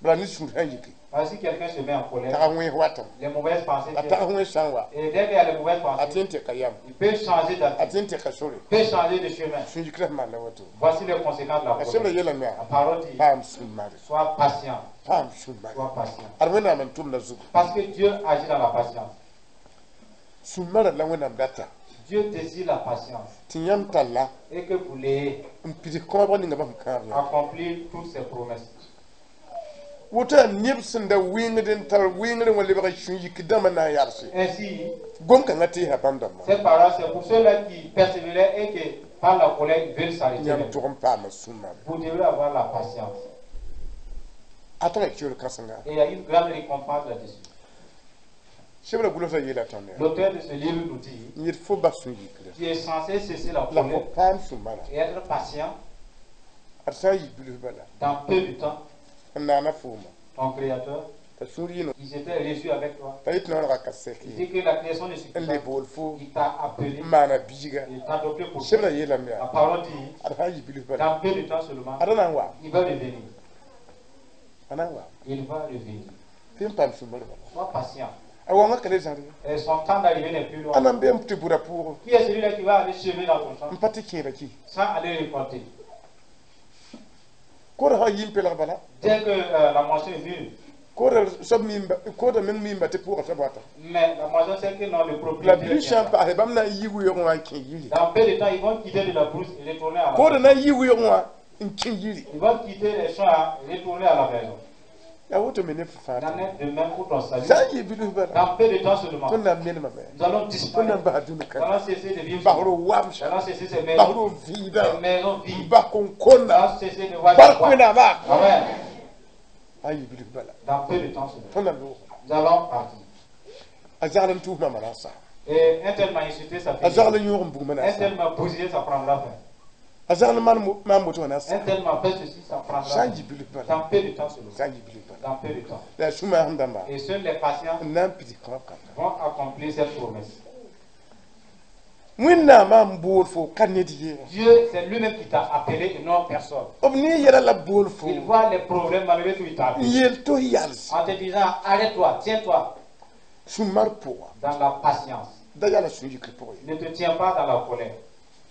Bala ne sũur sã n yike. Parce que si quelqu'un se met en colère, Tag wẽes watame. Les mauvaises pensées A viennent. tag wẽes sã n wa. Et dès qu'il y a les mauvaises A pensées, tẽ n teka yam. Il peut changer A d'attitude, tẽ n teka sore. il peut changer de chemin. Sũ-yikrã sẽn maan la woto. Voici les conséquences de la A sebra colère. yeelame La yaa. parole dit, Paam sũ-mare. Sois patient, Paam sũ-mare. Sois patient. Ad Wẽnnaam n tʋmda zugu. Parce que Dieu agit dans la patience. Sũ-marã la Wẽnnaam data. Dieu désire la patience Tɩ yãmb talla. Et que vous l'ayez N pids kõobg ninga bãmb kãab yã. Accomplir toutes ses promesses. Woto yaa neb sẽn da wɩngd n tar wɩngr wã lebg sũ-yik dãmbã na n yalse. Ainsi, Gom-kãngã teesa bãmb dãmbã. Ces paroles, c'est pour ceux-là qui persévéraient et qui, par la colère, ils veulent s'arrêter. Yãmb tog n paama sũ-mare. Vous devez avoir la patience. A tara kior kãsenga. Et il y a une grande récompense là-dessus. Sebra gʋlsã yeela tõnd yaa. L'auteur de ce livre nous dit, N yet fo bas sũ-yikrã. Tu es censé cesser la La fo colère paam sũ-mara. Et être patient Ad sã n yik bilf bala. Dans peu de temps. N naana fooma. Ton Créateur, T'a sũur yɩno. Il s'était reçu avec toi. T'a yet noorga ka sɛk Il ye. dit que la création ne suffit N pas. le bool fo. Il t'a appelé, N maana biiga. Il t'a adopté pour toi. Sebra yeelame La yaa. parole dit, Ad sã n yik bilf bala. dans peu de temps seulement, Ad na n wa. il va revenir. A na n wa. Il va revenir. Tɩ n paam sũ-mar bala. Sois patient. A wãngã ka le zãr ye. Et son temps d'arrivée n'est plus loin. A na n be n tɩ bʋda pʋʋgẽ. Qui est celui-là qui va aller semer dans ton champ N pa tɩ kẽeda ki. Sans aller récolter? Koodã sã n yi n pelg bala. Dès que euh, la moisson est mûre, Koodã soab miimba koodã meng miimba tɩ pʋʋgã soab wata. Mais la moisson, c'est que non, le La propriétaire bilf sã n viendra. paase bãmb na n yi wɩoogẽ wã n kẽ yiri. Dans peu de temps, ils vont quitter de la brousse et retourner à la Koodã maison. Na n yi wɩoogẽ wã n kẽ yiri. Ils vont quitter les champs et retourner à la maison. Yaa woto me ne f fãa. Il en est de même pour ton salut. Sã n yɩ bilf bala, Dans peu de temps seulement, tõnd na n melmame. Nous allons Tõnd na disparaître. n bas dũni Nous kãna. allons cesser de vivre. Basr Nous wamsã, allons cesser ces maisons. basr vɩɩdã, Ces maisons vides. bas kõn-konna. Nous allons cesser de voir Bark des boîtes. Wẽnnaama. Amen. A yɩ bilf bala, Dans peu de temps seulement, tõnd na loog. Nous allons partir. A zagl n tʋʋs mama na n sa. Et un tel m'a insulté, ça A finit. zagl n yõog n bugmã na Un n sa. tel m'a bousillé, ça prendra fin. A zagl n maan maan woto wã na n sa. Un tel m'a fait ceci, ça prendra Sã n fin. yɩ bilf bala, Dans peu de temps seulement. Sã n yɩ bilf bala, Dans peu de temps. la sũ-maasem dãmba Et seuls les patients n na n pids kõab kãnga. Vont accomplir cette promesse. Wẽnnaamã n bool fo ka ned ye. Dieu, c'est lui-même qui t'a appelé et non personne. B ne yɛla la bool fo Il voit les problèmes malgré tout, il t'a n appelé. yeel tɩ f yals. En te disant, arrête-toi, tiens-toi Sũ-mar pʋga. Dans la patience. Da yala sũ-yikr pʋgẽ. Ne te tiens pas dans la colère.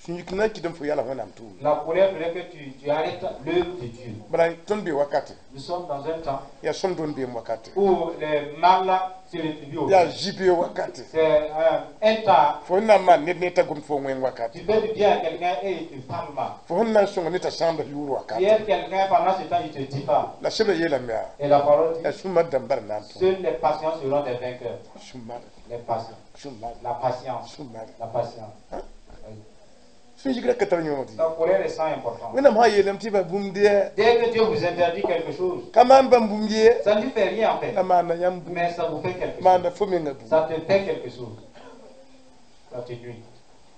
Sũ-yikr na n kɩt n fo yala Wẽnnaam tʋʋm. La colère ferait que tu, tu arrêtes l'œuvre de Dieu. Bala tõnd bee wakate. Nous sommes dans un temps Yaa sõm dõnd beem wakate. Où les mal se rétribuent au Yaa bien. zĩ-bee wakate. C'est un, un temps, Fo sẽn na n maan ned ne t'a gom fo wẽng wakate. Tu fais du bien à quelqu'un et il te parle mal. Fo sẽn na n sõng ne t'a sãamd yʋʋr Tu wakate. aides quelqu'un pendant ce temps, il ne te dit pas. La sebra yeelame yaa Et la parole dit, yaa sũ-mar dãmba d na n tõ. Seuls les patients seront des vainqueurs. Sũ-mar. Les patients. Sũ-mar. La patience. Sũ-mar. La patience. Oui. Sũ-yigrã ka tar yõod. La colère est sans importance. Wẽnnaam sã n yeelame tɩ ba bũmb dɩ Dès que Dieu vous interdit quelque chose, ka maan bãmb bũmb ye, ça ne lui fait rien en fait. la maanda yãmb bũmb. Mais ça vous fait quelque chose. Maanda fo menga bũmb. Ça te fait quelque chose. Ça te nuit.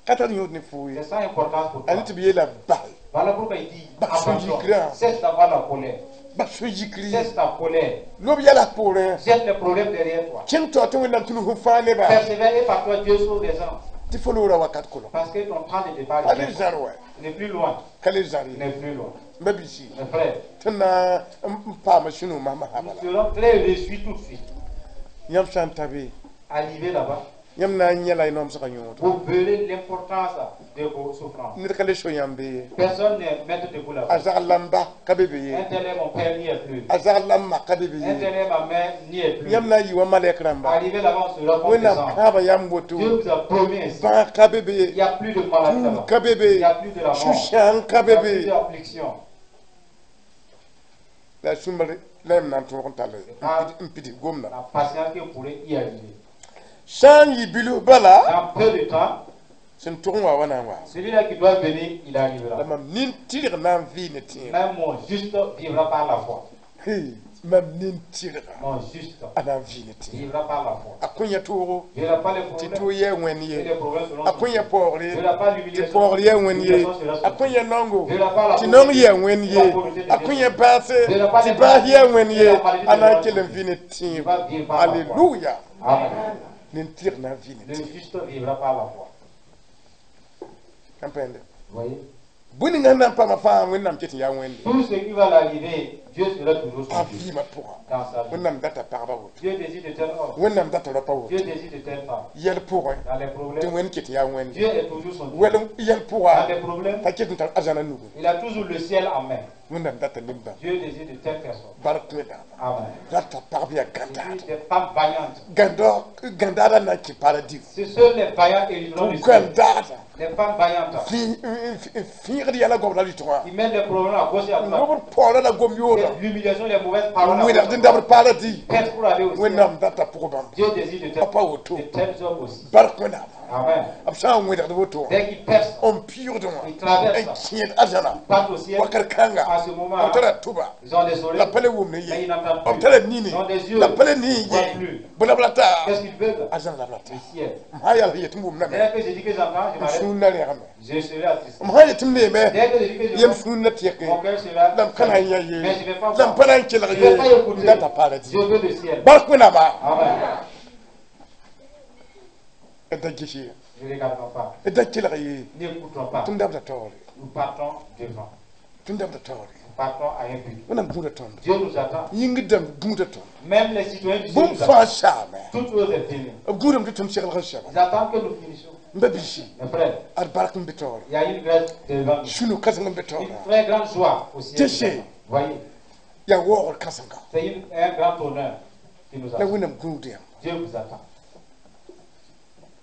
Ka tar yõod ne foo ye. C'est sans importance pour toi. A ne tɩ b yeela bas. Voilà pourquoi il dit, Bah, abandonne. c'est Cesse d'avoir la colère. Bas sũ-yikri. Cesse ta colère. Lob yɛla poorẽ. Jette les problèmes derrière toi. Kẽng tao tɩ Wẽnnaam tũnu fo fãa nebã. Persévère et par toi Dieu sauve les gens. Tɩ fo loora wakat kolɔ. Parce que ton temps de départ Ka est le bien. zãr wa. Il n'est plus loin. Ka le zãr Il ye. n'est plus loin. M ba biisi. Mes frères, Tõnd na n paama sũ-no masma nous bala. Serons très réjouis tout de suite. Yãmb sã n ta be, Arrivé là-bas, yãmb na n yẽla y noamsgã yõodo. Vous verrez l'importance de vos souffrances. Ned ka le so yãmb be ye. Personne n'est maître de vous là-bas. A zagl la n ba ka be be ye. Un tel est mon père, n'y est plus. A zagl la n ma ka be be Un ye. tel est ma mère, n'y est plus. Yãmb na n yɩ wa malɛk rãmba. Arrivé là-bas, on sera comme des Wẽnnaam anges. kãabã yãmb woto. Dieu vous a promis ainsi. Bãag ka be be Il ye. n'y a plus de maladie Kũum là-bas. ka be be. Il n'y a plus de la mort. Sũ-sãang ka Il be n'y a plus be. d'affliction. La sũ-mar la yãmb na n tõog n tall n pids gomdã. La patience que vous pourrez y arriver. Sã n yɩ bilf bala, Dans peu de temps, sẽn tʋg n wa wa na n wa. Celui-là qui doit venir, il arrivera. La mam nin-tɩrg na n vɩ ne tẽeb. Même mon juste vivra par la foi. Hey, mam nin-tɩrga Mon juste a na n vɩ ne tẽeb. Vivra par la foi. A kõ yã toogo Il n'y aura pas les tɩ problèmes. toog yɛɛ wẽnd Et ye. les problèmes seront A kõ yã paoogre Il n'y aura pas tɩ l'humiliation. paoogr yɛɛ wẽnd ye. A kõ yã naongo tɩ naong yɛɛ wẽnd ye. A kõ yã baase tɩ baas yɛɛ wẽnd ye. A na n kell n vɩ ne tẽeb. Alleluya. Amen. Nin-tɩrg na n vɩ ne Le tẽeb. Juste vivra par la foi. N pẽnde. Vous voyez? Bũmb ninga sẽn na n paama fãa Wẽnnaam ket n yaa Wẽnde. Tout ce qui va l'arriver, Dieu sera toujours A son Dieu vɩɩmã pʋga. Dans sa vie. Wẽnnaam data pagba woto. Dieu désire de tel homme. Wẽnnaam data raopa woto. Dieu désire de telle femme. Yɛl pʋgẽ Dans les tɩ problèmes, Wẽnd ket n yaa Wẽnde. Dieu est toujours son Dieu. Wɛl yɛl Dans pʋga les problèmes, t'a ket n tar arzãna nugu. Il a toujours le ciel en main. Wẽnnaam data neb-bãmb. Dieu désire de telles personnes. Bark Wẽnnaam. Amen. Rata pagb yaa Et gãndaada. puis des femmes vaillantes. Gãnda gãndaada na n kẽ paradis. C'est seuls les vaillants hériteront du ciel. Gãndaada Les femmes vaillantes fẽegd yɛla goam la rɩtgã. Qui mettent les problèmes à gauche et à droite. Lobd paoora la gom yooda. C'est l'humiliation, les mauvaises paroles à gauche Wẽnnaam et à dẽn droite. dabd paradis. Prêtes pour aller au ciel. Wẽnnaam data pʋg bãmb. Dieu désire de tels, Pa woto. De tels hommes aussi. Bark Wẽnnaam. Amen. B sã n wẽdgd woto wã, Dès qu'ils percent, n piʋʋgd wã, ils traversent, n kẽed arzãna ils partent au ciel. Wakat kãnga, À ce moment, b tara tʋba ils ont des oreilles, la pa le wʋmd mais ye. Ils n'entendent B plus. tara nini Ils ont des yeux, la pa le nii ils ne voient ye. plus. Bõe la b rata? Qu'est-ce qu'ils veulent? Arzãna la b rata. Le ciel. M sã n yaa yet n wʋmdame, Dès que je dis que j'entends, je m m'arrête. sũur na rẽgame. Je serai attristé. M sã n yet m neeme, Dès que je dis que je yem vois, sũur na tɩɛke. Mon cœur sera. La m ka na n yã ye. Mais je ne vais pas La m voir. pa na n kelg Je ne vais pas ye. écouter. M data paradis. Je veux le ciel. Bark Wẽnnaama. Amen. D da ges ye. Ne regardons pas. D da kelg ye. N'écoutons pas. Tõnd dabda taoore. Nous partons devant. Tõnd dabda taoore. Nous partons à un but. Wẽnnaam gũuda tõndo. Dieu nous attend. Yĩngr dãmb gũuda tõndo. Même les citoyens du ciel Bũmb nous fãa attendent. saame. Toutes choses est fini. B gũudame tɩ tõnd seglg n sɛba. Ils attendent que nous finissions. M ba biisi, Mes frères, ad bark n be taoore. Il y a une grâce devant nous. Sũ-no kãseng n be taoora. Une très grande joie au ciel. Tessé. Voyez, Yaa waoogr kãsenga. C'est une- un grand honneur qui nous La attend. Wẽnnaam gũud yãmb. Dieu vous attend.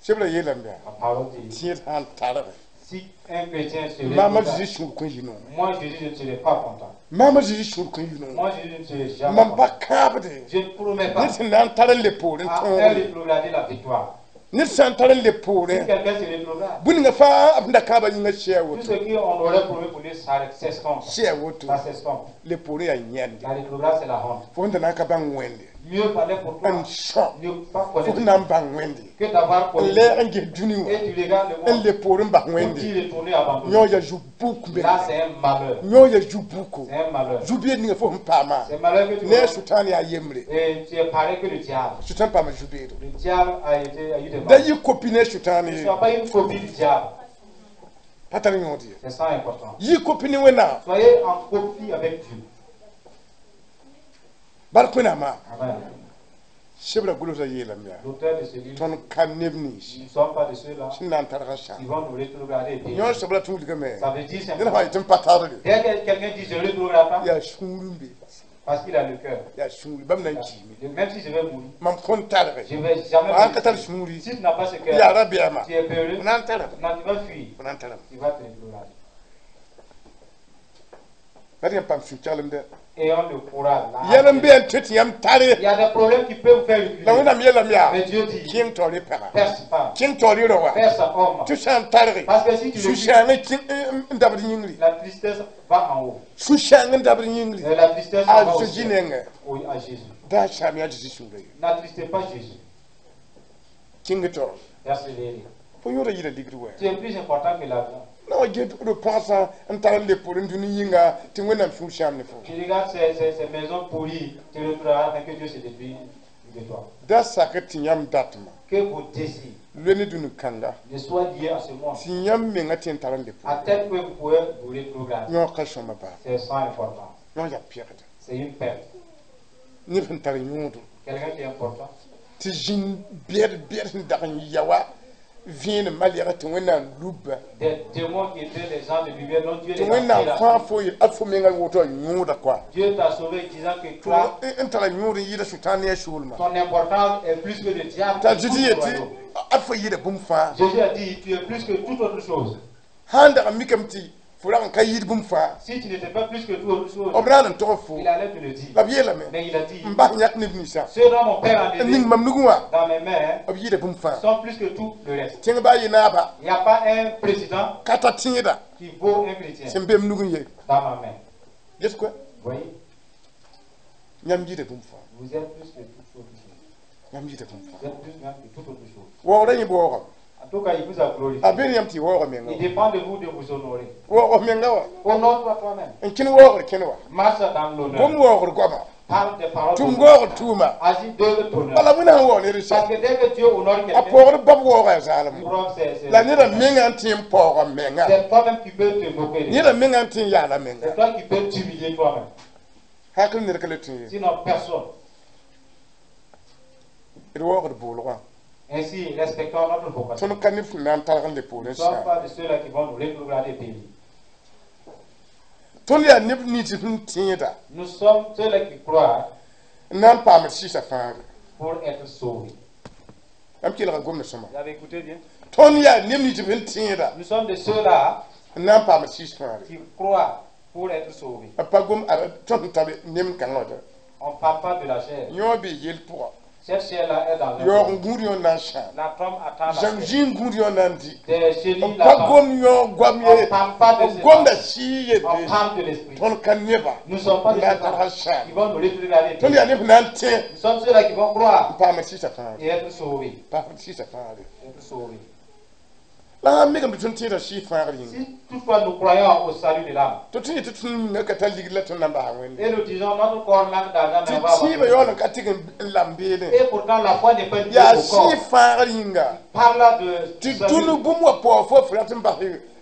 Sebra yeelame yaa La parole dit, tẽed sã n targe, Si un chrétien se Maam a rétrograde, Zezi sũur kõn yɩ noor. moi Jésus, je ne serai pas content. Maam a Zezi sũur kõn yɩ noor. Moi Jésus, je ne serai jamais Mam content. pa kãabde. Je ne promets pas Ned sẽn na n tar n le poorẽ à un tõogre. rétrograder la victoire. Ned sã n tar n le Si poorẽ quelqu'un se rétrograde, bũn-ninga fãa b sẽn da kãabã yĩngã sɛɛ tout woto. ce qu'on aurait promis pour lui, ça s'estompe. Sɛɛ woto. Ça s'estompe. Le poorẽ yaa yãnde. La rétrograde, c'est la honte. Fo sẽn da na n ka bãng Wẽnde. Mieux valait pour toi N sõ. ne pas Fo connaître sẽn na n bãng Wẽnde. que d'avoir N connu. lɛɛg n ges dũni wã. Et tu regardes le N monde le poorẽ n bas pour Wẽnde. t'y retourner abandonné. Yõ yaa zu-buk Là, menga. c'est un malheur. Yõ yaa zu-buko. C'est un malheur. Zu-beed ninga fo sẽn paama. C'est malheur que tu Ne a vois. Sʋtãan yaa yembre. Et tu es pareil que le diable. Sʋtãan paama zu-beedo. Le diable a été a eu des Da malheurs. yɩ kopi ne a Sʋtãan Ne ye. sois pas une copie du diable. Pa tar yõod ye. C'est ça important. Yɩ kopi ne Wẽnnaam. Soyez en copie avec Dieu. Bark Wẽnnaamã. Amen. Sebra gʋlsda yeelame yaa. L'auteur de ce livre, Tõnd ka neb nins nous ne sommes pas de ceux-là sẽn na n targ n sãam. qui vont nous rétrograder. et Yõ périr. soab la tũudgame. Ça veut dire Ned simplement, fãa yetɩ n pa targe. dès que quelqu'un dit je ne rétrograde pas, Yaa sũur n be. parce qu'il a le cœur. Yaa sũur bãmb na n kiime. Même si je vais mourir, Mam kõn targe. je ne vais jamais Sã n ka mourir. tar sũuri. Si tu n'as pas ce cœur, Yaa rabeɛɛma. tu es peureux, F na n tarame. non, tu vas fuir. F na n tarame. Tu vas te rétrograder. Rat yãmb paam sũ-kelmdɛ. Ayons le courage. là. Yɛl n be n tɩ tɩ yãmb tare. Il y a des problèmes qui peuvent vous faire reculer. La Wẽnnaam yeelame yaa. Mais Dieu dit, Kẽng taoor y pagã. perce pas, Kẽng taoor y rao wã. perce homme. Tɩ sã n targe. Parce que si tu recules, Sũ-sãang n dabd yĩngri. la tristesse va en haut. Sũ-sãang n dabd yĩngri. Et la tristesse A va au Zezi ciel. nengẽ. Oui, à Jésus. Da sãam yaa Zezi sũurã ye. N'attristez pas Jésus. Kẽng taoor. Persévérez. Fo yõoda yɩla ligd wɛ. Tu es plus important que l'argent. Na wa get d pãasã n tar n le poorẽ dũni yĩnga tɩ Wẽnnaam sũur sãam ne fo. Tu regardes ces, ces, ces maisons pourries, tu retrouveras afin que Dieu se détruise de toi. Da sak tɩ yãmb datmã Que vos désirs loe ne dũni kãnga ne soient liés à ce monde, tɩ yãmb menga tɩ n tar n le à poorẽ. tel point que vous pouvez vous rétrograder. Yõ ka sõma baa. C'est ça important. Yõ yaa pɛgda. C'est une perte. Ned sẽn tar yõodo Quelqu'un qui est important. tɩ zĩnd bɛd bɛd sẽn dag n ya wa vẽenem malɛgã tɩ Wẽnnaam lubba Des démons qui étaient les gens de lumière dont Dieu tɩ les a Wẽnnaam tirés. fãa fo yel ad fo menga woto a yõoda koa. Dieu t'a sauvé disant que toi, Tɩ n tara yõod n yɩɩda Sʋtãan ne a soolmã. ton importance est plus que le diable. T'a et tout Zezi le yetɩ royaume. ad fo yɩɩda bũmb fãa. Jésus a dit, tu es plus que toute autre chose. Sãn dag n mikame tɩ fo rag n ka yɩɩd bũmb fãa Si tu n'étais pas plus que toute autre chose, b raan n tog fo il allait te le dire. la b yeelame Mais il a dit, n bas yãk neb ninsã ceux dont mon père a n donné ning mam nugẽ wã dans mes mains b yɩɩda bũmb fãa. sont plus que tout le reste. Tẽng baa yɩ naaba Il n'y a pas un président ka ta tẽeda qui vaut un chrétien sẽn be m nugẽ ye. dans ma main. Ges koa Vous voyez, yãmb yɩɩda bũmb fãa. vous êtes plus que toute autre chose. Yãmb yɩɩda bũmb fãa. Vous êtes plus même que toute autre chose. Waoogrã yẽ waoogame. En tout cas, il vous a glorifié. A be yãmb tɩ y waooga menga Il wã. dépend de vous de vous honorer. Waoog menga wã. Honore-toi toi-même. N kẽn waoogr kẽne wã. Marche dans l'honneur. Gom waoogr goama. Parle des paroles. Tʋm d'honneur. waoogr tʋʋma. Agis de l'honneur. Bala Wẽnnaam sẽn waoog ned Parce sã. que dès que Dieu honore A quelqu'un, paoogd bab waooga yaa zaalem. preuve, c'est c'est- La neda menga n tɩ n paooga menga. c'est toi-même qui peux te moquer. de Neda menga n tɩ n yaala menga. C'est toi qui peux t'humilier toi-même. Hakl ned ka le tũ ye. Sinon, personne. D waoogd boolgã. Ainsi, respectons notre vocation. Tõnd ka neb sẽn na n targ n le Nous poorẽ ne sommes sãam. pas de ceux-là qui vont nous rétrograder et périr. Tõnd yaa neb nins sẽn tẽeda Nous sommes ceux-là qui croient n na n paam d sɩɩsã fãagre. pour être sauvés. Yãmb kelga gomd sõma. Vous avez écouté bien? Tõnd yaa neb nins sẽn tẽeda Nous sommes de ceux-là n na n paam d sɩɩs fãagre. qui croient pour être sauvés. B pa gom ad tõnd sẽn tar nem kãngã wã. On ne parle pas de la chair. Yõ bee yel pʋga. Cette chair-là est dans un Yaoog corps. n gũud yõ na n sãam. La trompe attend la Zãng chair. zĩig n gũud yõ na n di. Des chenilles B pa l'attendent. gom yõ goam On ye. ne parle pas de B gomda cela. sɩɩ On yelle. parle de l'esprit. Tõnd ka neba Nous ne sommes pas de n na n ceux-là targ n sãam. qui vont nous rétrograder. Tõnd yaa neb sẽn na n tẽ Nous sommes ceux-là qui vont croire n paam d sɩɩsã fãagre. et être sauvés. Paam d sɩɩsã fãagre. Être sauvés. La sã n mikame tɩ tõnd tẽeda sɩɩs fãagr yĩnga. Si toutefois nous croyons au salut de l'âme, Tɩ tõnd yetɩ tõnd yĩngã ka tar ligd la tõnd na n basa Wẽnde. et nous disons notre corps manque d'argent, Tɩ mais on va tẽebã abandonner. yaool n ka tɩg n lam beelẽ. Et pourtant la foi n'est pas liée Yaa au corps. sɩɩ fãagr yĩnga. Parle de Tɩ salut. dũni bũmb wã paoog fo f rat n bas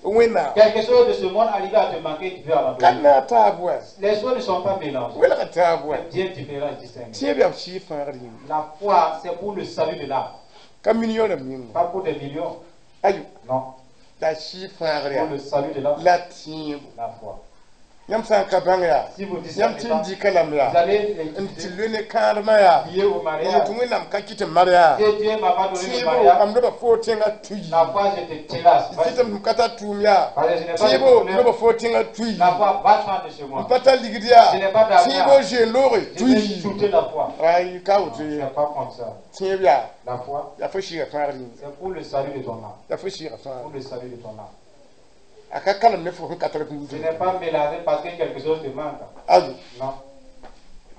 Wẽnnaam. Quelque chose de ce monde arrive à te manquer, tu veux Ka abandonner. na n taab wã. Les choses ne sont pas mélangées. Welga taab wã. Bien différents et distingués. Tẽeb yaa sɩɩ fãagr yĩnga. La foi, c'est pour le salut de l'âme, Ka million rãmb yĩnga. pas pour des millions. Ayo. Non, La sɩɩ fãagr pour yaa le salut de l'âme, la tẽebo. la foi. Yãmb sã n ka bãng yaa Si vous discernez yãmb tɩ n pas, dɩka lame vous yaa allez n tɩ utiliser loe ne kãadmã yaa lié au n mariage. yet Wẽnnaam ka kɩt n mar yaa Que Dieu m'a pas donné le tẽebo mariage. mam loba foo tẽngã tuy La foi, je te terrasse. Vas-y. tɩ tɩ m ka tar tʋʋm yaa Parce que je n'ai pas de tẽebo problème. loba foo tẽngã tuy La foi, va-t'en de chez n moi. pa tar ligd yaa Je n'ai pas d'argent. tẽebo zoe loore Je vais tuy shooter la foi. ay ka woto C'est ye pas comme ça. tẽeb yaa La foi, yaa fo sɩɩga fãagr yĩnga c'est pour le salut de ton âme. yaa fo sɩɩga fãagr Pour le salut de ton âme. a ka kalem ne fo sẽn ka tar bũmb Ce n'est pas mélangé parce que quelque chose te manque. ayo Non.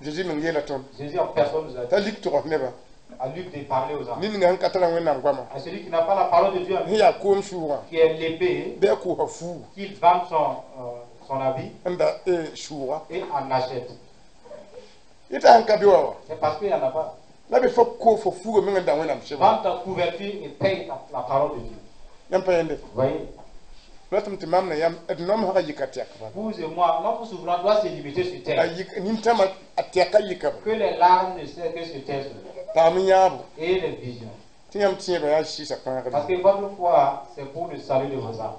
Jésus meng yeela tõnd Jésus en personne nous a dit t'a lik tʋgs nebã à Luc de parler aux gens. ned ninga sẽn ka tara Wẽnnaam goamã À celui qui n'a pas la parole de Dieu, sẽn yaa koom sʋʋgã qui est l'épée, bɩ a kʋʋsa fuu qu'il vende son, euh, son habit n da sʋʋga et en achète. yeta sẽn ka be wa wa C'est parce qu'il n'y en a pas. la be fo ko fo fuuga meng n da Wẽnnaam sebra Vends ta couverture et paye ta- la parole de Dieu. yãmb pa yẽnde Vous voyez? ratame tɩ mam na yãmb d noam sã yika tɛk bala Vous et moi, notre souffrance doit se limiter sur a terre. yik nintãmã a tɛka yika Que les larmes ne cessent que sur terre paam yãabo et les visions. tɩ yãmb tẽebã yaa sɩɩsa fãagr Parce que votre foi, c'est pour le salut de vos âmes.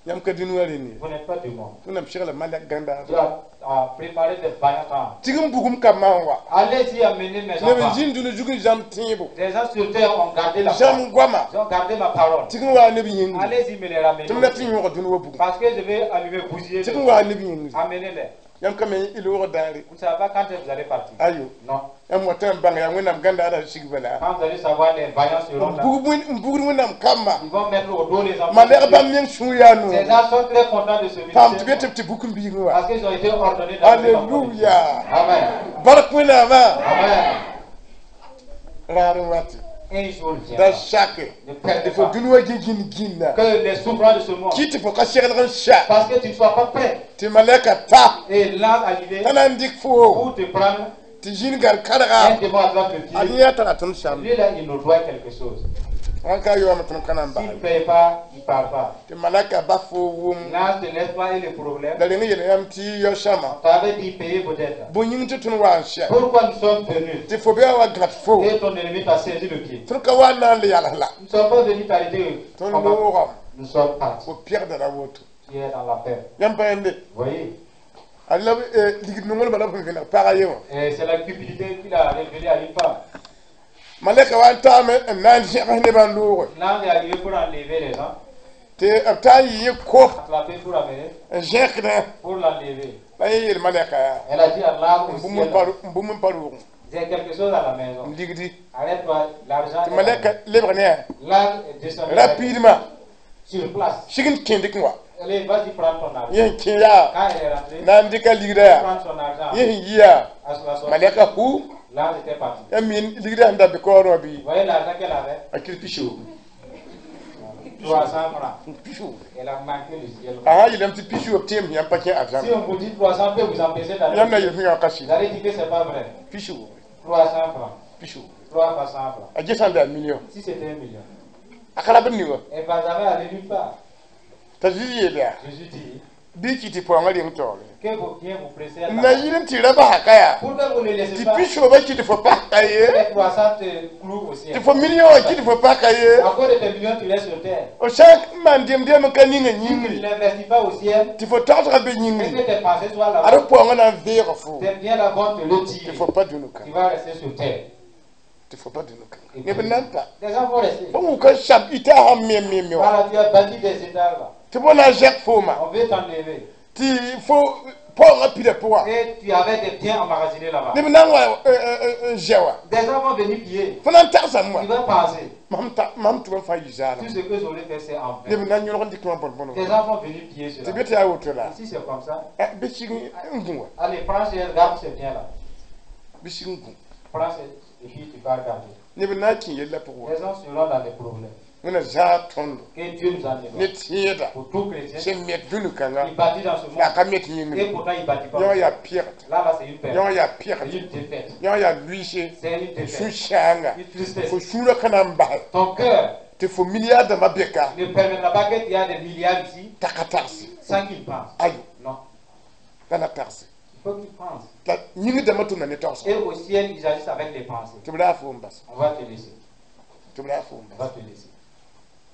yãmb ka dũni rẽnd ye Vous n'êtes pas du monde. Wẽnnaam segla malɛk gãndaar Dieu a, a préparé des vaillants âmes. tig n bugum ka maan wa Allez-y amener mes neb n enfants. zĩnd dũni zug n zãmb tẽebo Des gens sur terre ont gardé la foi. zãmb goama Ils ont gardé ma parole. tig n waa neb yĩngri Allez-y me les ramener. tɩ m la tɩ yõg dũni wa bugum Parce que je vais allumer bousiller. tɩg n waa neb yĩngri Amenez-les. yãmb ka me y loogr daare Vous ne savez pas quand vous allez partir. ayo Non. yãmb wata n bãng yaa Wẽnnaam gãndaarã sig bala Quand vous allez savoir, les vaillants seront n là. bug wẽn- n bugd Wẽnnaam kamba Ils vont mettre au dos les enfants. malɛg bãmb meng sũur yaa Ces noog gens sont très contents de ce paam tɩ be ministère. tɩ b tɩ buk n biigẽ wa Parce qu'ils ont été ordonnés dans le Alléluia. Amen. Bark Wẽnnaamã Amen. raar n wate Un jour viendra. da sake Ne perdez tɩ fo pas. dũni wa gĩ gĩnd gĩnda Que les souffrances de ce monde. kɩ tɩ fo ka seglg n sa Parce que tu ne sois pas prêt. tɩ malɛka ta Et l'ange arrivé t'a na n dɩk foo pour te prendre, tɩ zĩn gar karga un démon attrape le a pied. yẽ yaa tara tõnd sam Lui là, il nous doit quelque chose. wãn ka yoame tõnd ka na n S'il ne bas paye pas, il ne parle pas. tɩ malɛka ba fo wʋm L'ange te laisse pas et le problème. la reng yel yãmb tɩ yao sãma On t'avait dit payer peut-être. bõe yĩng tɩ tõnd wa n sɛ Pourquoi nous sommes venus tɩ fo bɩ a wa gãd fo et ton ennemi t'a saisi le pied? tõnd ka wa n na n le yals la Nous ne sommes pas venus t'arrêter. tõnd Comment? loogame Nous sommes partis. fo pɛgda ra woto Tu es dans la paix. yãmb pa yẽnde Vous voyez? a la ligd nonglmã la b sẽn vẽneg pagã ye wã Et c'est la cupidité qu'il a révélée à une femme. malɛka wa n taame n na n zẽgs nebã n looge L'ange est arrivé pour enlever les gens, tɩ b taa n yɩ yẽ kof attraper pour amener, n zẽkdẽ pour l'enlever. la yẽ yeel malɛka yaa Elle a dit à l'âme au n bũmb ciel, n pa n bũmb n pa roogẽ j'ai quelque chose à la maison. n ligdi Arrête-toi, l'argent. tɩ est là. malɛka lebg ne L'ange est descendu rapidement sur place. sig n kẽndk wa Allez, vas-y prendre ton argent. yẽ sẽn kẽ yaa Quand elle est rentrée, na n dɩka ligda yaa prendre son argent. yẽ sẽn yi yaa À la sortie, malɛka hu l'ange était parti. yãmb mi ligda sẽn da be kaoorẽ wã bɩ Vous voyez l'argent qu'elle avait? a kɩr pisoog trois cents francs. pisoog Elle a manqué le ciel. a sã n yeelame tɩ pisoog tẽem yãmb pa kẽ Si arzãn on vous dit trois cents peut vous empêcher d'aller. yãmb na yel fẽ yã ka sɩd Vous allez dire que c'est pas vrai. pisoog trois cents francs. pisoog trois fois cent francs. a ges sã n be a million Si c'était un million. a ka rab n ni wã Elle va jamais aller nulle part. t'a Zezi yeel yaa Jésus dit bɩ kɩ tɩ paoongã reng taoore que vos biens vous précèdent. n na yɩl n tɩ ra basaka yaa Pourquoi vous ne laissez tɩ pas pisoobã kɩ tɩ fo paka ye les trois cents te clouent au ciel? tɩ fo million wã kɩ tɩ fo paka ye À cause de tes millions, tu restes sur terre. f sã n maan dẽm-dẽm n ka ninga Si tu ne yĩngri l'investis pas au ciel, tɩ fo togsga be et que yĩngri tes pensées soient ad là-bas, paoongã na n veega fo tes biens là vont te tɩ retirer. fo pa dũni Tu kãnga vas rester sur terre. tɩ fo pa dũni kãnga neb n na n pa Les gens vont rester. fo wʋka sab ita sãn mem mem me wa Voilà, tu as bâti des étages là. tɩ fo na n zɛk fooma On veut t'enlever. tɩ fo paoongã pida pʋga Et tu avais des biens emmagasinés là-bas. neb na n wa n zɛ wa Des gens vont venir piller. fo na n tagsame wa Tu vas penser. mam ta mam tʋm n fãa yi zaalem Tout ce que j'aurais fait, c'est en vain. neb na n yõlg n dɩk wã bõn-bõn Des gens vont venir piller tɩ cela. be tɩ yaa woto la Et si c'est comme ça, bɩ sig n gũ wa allez, prends ces, garde ces biens-là. bɩ sig n gũ Prends ces, et puis tu vas garder. neb na n kẽ yella pʋgẽ wa Les gens seront dans des problèmes. Wẽnna zãag tõndo Que Dieu nous en ne défende. tẽeda Pour tout chrétien, sẽn met dũni-kãnga il bâtit dans ce monde. la ka met Et yĩngri pourtant, il ne bâtit pas. yõ yaa pɛgd Là, là, c'est une perte. yõ yaa C'est pɛgd une défaite. yõ yaa luiise C'est une défaite. sũ-sãanga Une tristesse. fo sũurã ka na n bas Ton cœur tɩ fo milliard dãmbã beka ne permettra pas que tu aies des milliards ici t'a ka tagse sans qu'il pense. ayo Non. la na tagse Il faut qu'il pense. la yĩng dãmbã tʋmda ne tagsg Et au ciel, ils agissent avec les pensées. tɩ b raa fo n bas On va te laisser. tɩ b raa fo n On bas va te laisser.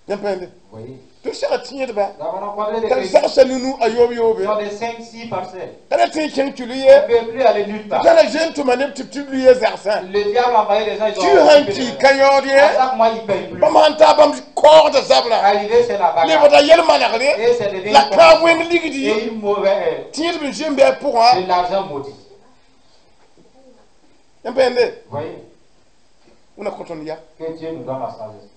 Yãmb pãende. Vous voyez. Tɩ b sega tẽedba. Nous avons rencontré des T'a chrétiens zagsã nunu a yoob yoobe. qui ont des cinq, six parcelles. Ka ra tõe n kẽng tɩ On ye. ne peut plus aller nulle part. T'a la zoe n tʋma neb tɩ b tɩ luye zagsã. Le diable a envoyé des gens, ils ont Tɩ sãn occupé ki les ka yaood ye. À chaque mois, ils ne payent plus. Bãmb sãn taa bãmb kaoogda zabra. Arrivé, c'est la bagarre. Lebda yel-manegre. Et c'est devenu La kãab wẽng ligdi. Et une mauvaise, Tẽedb n zoe n bɩ a pʋgã. de l'argent maudit. Yãmb pãende. Vous voyez, Wẽna kõ tõnd ya. que Dieu nous donne la sagesse.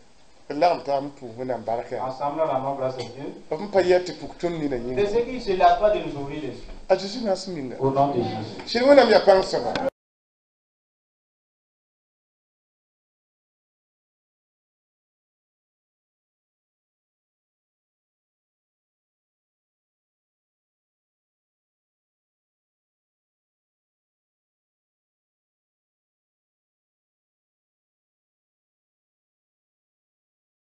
D lagem taab n pʋʋs Wẽnnaam barka. Ensemble, la nom grâce à Dieu. B n pa yɛ tɩ puk tõnd nina De yĩnga. ceux qui ne se lassent pas de nous ouvrir les yeux. A Zeezi naas minga. Au nom de Jésus. Sɩd Wẽnnaam yaa pãng soaba.